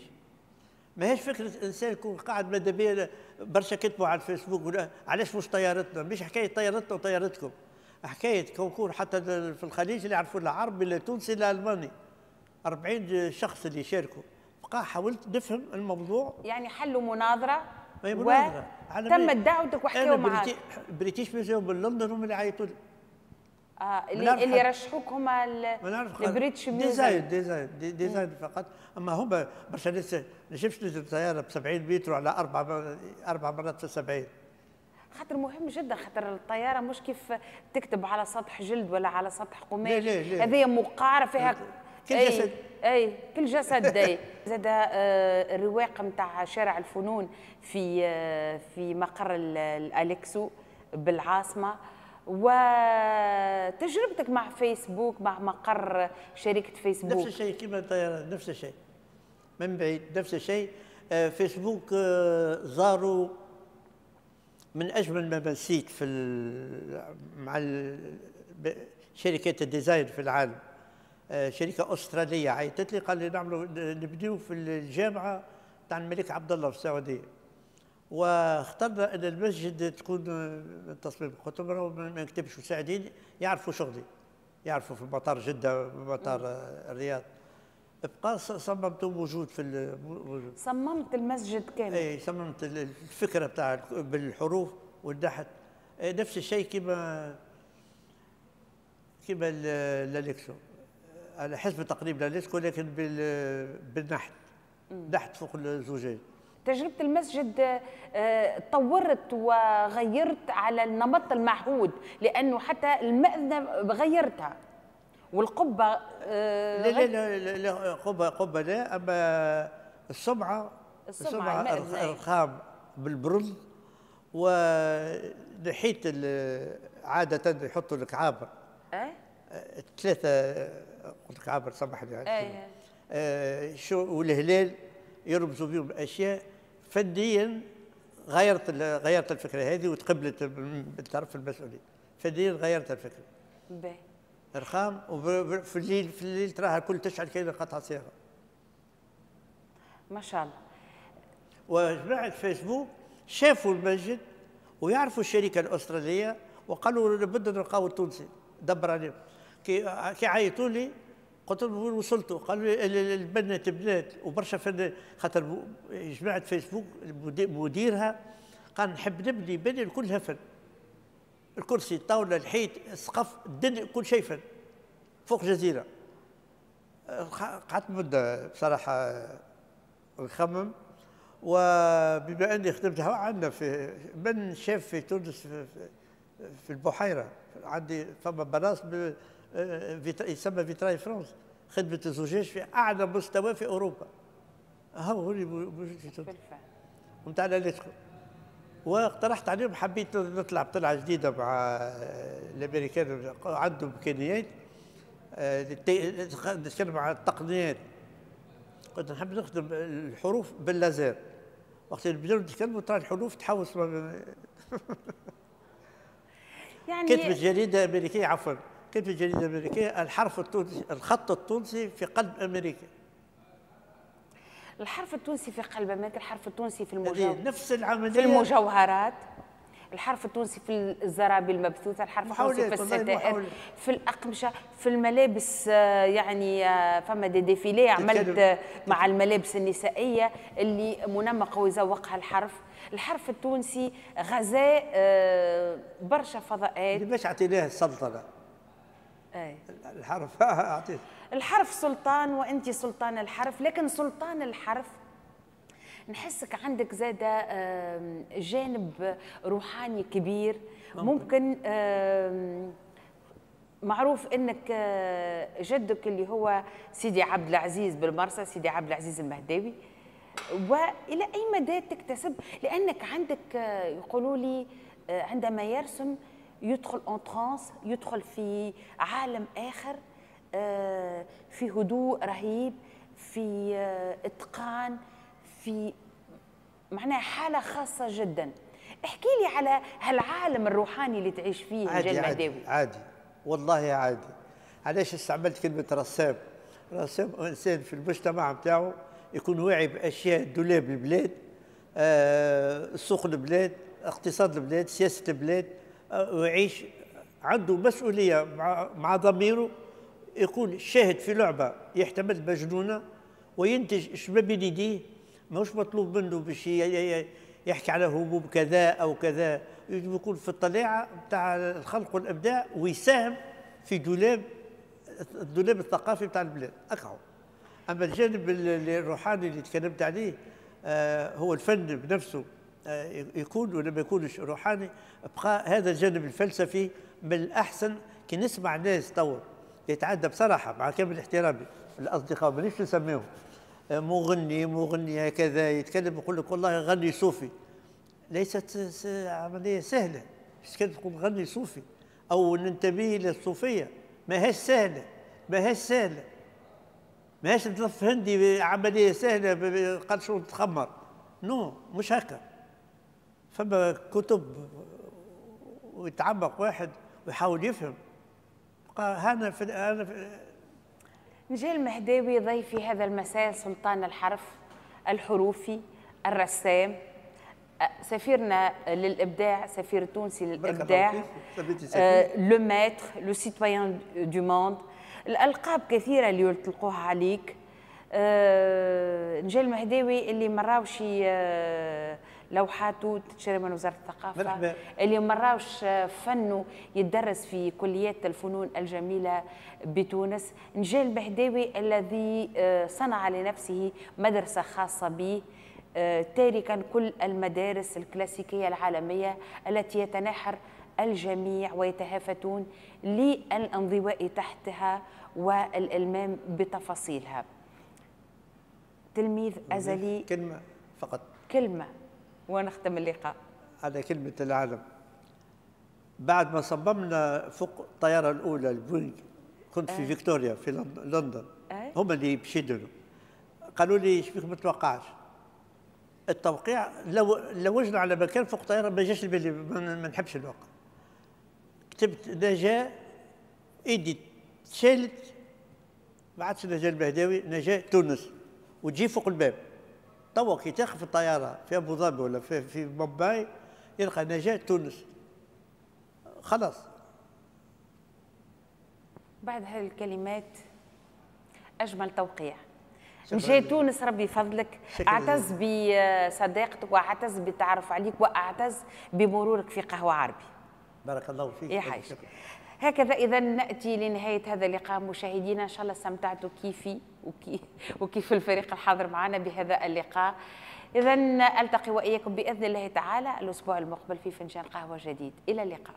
ماهيش فكرة إنسان يكون قاعد ماذا بيا. برشا كتبوا على الفيسبوك علاش مش طيارتنا؟ مش حكاية طيارتنا وطيارتكم، حكاية concours حتى في الخليج اللي يعرفوا لا عربي لا تونسي لا ألماني، 40 شخص اللي شاركوا. بقى حاولت نفهم الموضوع، يعني حلوا مناظرة، مناظرة تمت دعوتك وحكيوا معاك. British Museum بلندن هم اللي عيطوا لي. اللي رشحوك هما ال British Museum. design فقط، اما هما برشا ناس نجمش ننزل طيارة ب 70 متر على اربع مرات في 70. خاطر مهم جدا، خاطر الطيارة مش كيف تكتب على سطح جلد ولا على سطح قماش، هذه مقعره فيها كل جسد. اي كل جسد. اي زاد الرواق نتاع شارع الفنون في مقر الالكسو بالعاصمة، وتجربتك مع فيسبوك، مع مقر شركة فيسبوك. نفس الشيء كما الطيران، نفس الشيء من بعيد، نفس الشيء. فيسبوك زاروا من أجمل ما نسيت في مع شركات ال design في العالم. شركة أسترالية عيطت لي، قال لي نعملوا نبديو في الجامعة تاع الملك عبد الله في السعودية، واخترنا ان المسجد تكون من تصميم. قلت لهم ما نكتبش، مساعدين يعرفوا شغلي، يعرفوا في مطار جده، مطار الرياض. بقى صممته موجود في موجود. صممت المسجد كامل؟ اي صممت الفكرة بتاع بالحروف والنحت. نفس الشيء كما الاليكسو، على حسب تقريب الاليكسو، لكن بالنحت، نحت فوق الزجاج. تجربة المسجد طورت وغيرت على النمط المعهود، لأنه حتى المأذنة غيرتها والقبة. لا لا لا لا، قبة لا، أما السمعة الرخام بالبرونز، ونحيت عادة يحطوا الكعابر. ثلاثة، قلت كعابر سامح لي. شو والهلال يرمزوا بهم اشياء. فنيا غيرت الفكرة هذه وتقبلت من طرف المسؤولين. فنيا غيرت الفكرة. باهي. رخام، وفي الليل، في الليل تراها الكل تشعل كأنها قطعه صياغة. ما شاء الله. وجماعه فيسبوك شافوا المسجد ويعرفوا الشركة الاسترالية وقالوا لابد نلقاو التونسي، دبر عليهم. كي عيطوا لي قلت لهم وين وصلتوا؟ قالوا لي البنات تبنات وبرشا فن، خاطر جماعة فيسبوك مديرها قال نحب نبني بني كلها فن. الكرسي، الطاولة، الحيط، السقف، الدنيا، كل شيء فن. فوق جزيرة. قعدت مده بصراحة نخمم، وبما اني خدمت عندنا في من شاف في تونس في البحيرة، عندي فما بلاص يسمى vitrail France، خدمة الزجاج في اعلى مستوى في اوروبا. هو اللي موجود في تونس نتاع الاليترو. واقترحت عليهم، حبيت نطلع بطلعه جديدة مع الامريكان، عندهم امكانيات، نتكلم على التقنيات. كنت نحب نخدم الحروف باللازر. وقت اللي بداو نتكلموا ترى الحروف تحوس. يعني كتبت جريدة امريكية، عفوا، كتبت جريدة امريكية الحرف التونسي، الخط التونسي في قلب امريكا. الحرف التونسي في قلب امريكا، الحرف التونسي في المجوهرات، نفس العملية في المجوهرات، الحرف التونسي في الزرابي المبثوثه، الحرف التونسي في الستائر، في الاقمشة، في الملابس. يعني فما des défilés عملت مع الملابس النسائية اللي منمقه ويزوقها الحرف. الحرف التونسي غزاء برشا فضاءات. باش عطيناه السلطنة. أي. الحرف اعطيه الحرف سلطان، وانت سلطان الحرف. لكن سلطان الحرف نحسك عندك زادة جانب روحاني كبير. ممكن معروف انك جدك اللي هو سيدي عبد العزيز بالمرسى، سيدي عبد العزيز المهداوي، والى اي مدى تكتسب؟ لانك عندك يقولوا لي عندما يرسم يدخل en transe، يدخل في عالم اخر، في هدوء رهيب، في اتقان، في معناها حالة خاصة جدا. احكي لي على هالعالم الروحاني اللي تعيش فيه. عادي عادي, عادي والله عادي. علاش استعملت كلمة رسام؟ رسام إنسان في المجتمع نتاعو يكون واعي بأشياء دولاب البلاد، سوق البلاد، اقتصاد البلاد، سياسة البلاد، ويعيش عنده مسؤولية مع ضميره، يكون شاهد في لعبة يحتمل مجنونة وينتج ما بين يديه. ماهوش مطلوب منه باش يحكي على هموم كذا او كذا، يجب يكون في الطليعة نتاع الخلق والابداع ويساهم في دولاب الدولاب الثقافي نتاع البلاد اكهو. اما الجانب الروحاني اللي تكلمت عليه هو الفن بنفسه، يكون ولا ما يكونش روحاني، بقى هذا الجانب الفلسفي من الاحسن. كي نسمع ناس تو يتعدى بصراحة مع كامل احترامي الاصدقاء مانيش نسميهم مغني مغني هكذا يتكلم يقول لك والله غني صوفي، ليست عملية سهلة. باش تقول غني صوفي او ننتمي للصوفيه، ماهيش سهلة، ماهيش سهلة، ماهيش تلف هندي عملية سهلة قال شو تخمر، non مش هكا. فما كتب ويتعمق واحد ويحاول يفهم. هنا في نجاة المهداوي ضيفي هذا المساء، سلطان الحرف الحروفي الرسام، سفيرنا للإبداع، سفير التونسي للإبداع، le maître، le citoyen du monde، الألقاب كثيرة اللي يطلقوها عليك. نجاة المهداوي اللي مراوش لوحاته تتشري من وزارة الثقافة، مرحبا. اللي مراوش فنه يدرس في كليات الفنون الجميلة بتونس. نجاة المهداوي الذي صنع لنفسه مدرسة خاصة به، تاركا كل المدارس الكلاسيكية العالمية التي يتناحر الجميع ويتهافتون للانضواء تحتها والإلمام بتفاصيلها. تلميذ أزلي. كلمة فقط، كلمة ونختم اللقاء على كلمة العالم. بعد ما صممنا فوق الطيارة الأولى البوينغ، كنت في فيكتوريا في لندن، هم اللي بشدوا قالوا لي شبيك ما توقعش التوقيع، لو لوجنا على مكان فوق طيارة ما جاش لبالي، ما نحبش الوقع. كتبت نجاة، ايدي تشالت، ما عادش نجاة المهداوي، نجاة تونس، وتجي فوق الباب. توا كي تاخذ الطيارة في ابو ظبي ولا في مومباي يلقى نجاة تونس، خلاص. بعد هذه الكلمات اجمل توقيع. نجاة تونس، ربي يفضلك. اعتز بصداقتك واعتز بالتعرف عليك واعتز بمرورك في قهوة عربي. بارك الله فيك. يا حاج. هكذا اذا ناتي لنهاية هذا اللقاء مشاهدينا، ان شاء الله استمتعتوا كيفي وكيف الفريق الحاضر معنا بهذا اللقاء. اذا التقي واياكم باذن الله تعالى الاسبوع المقبل في فنجان قهوة جديد. الى اللقاء.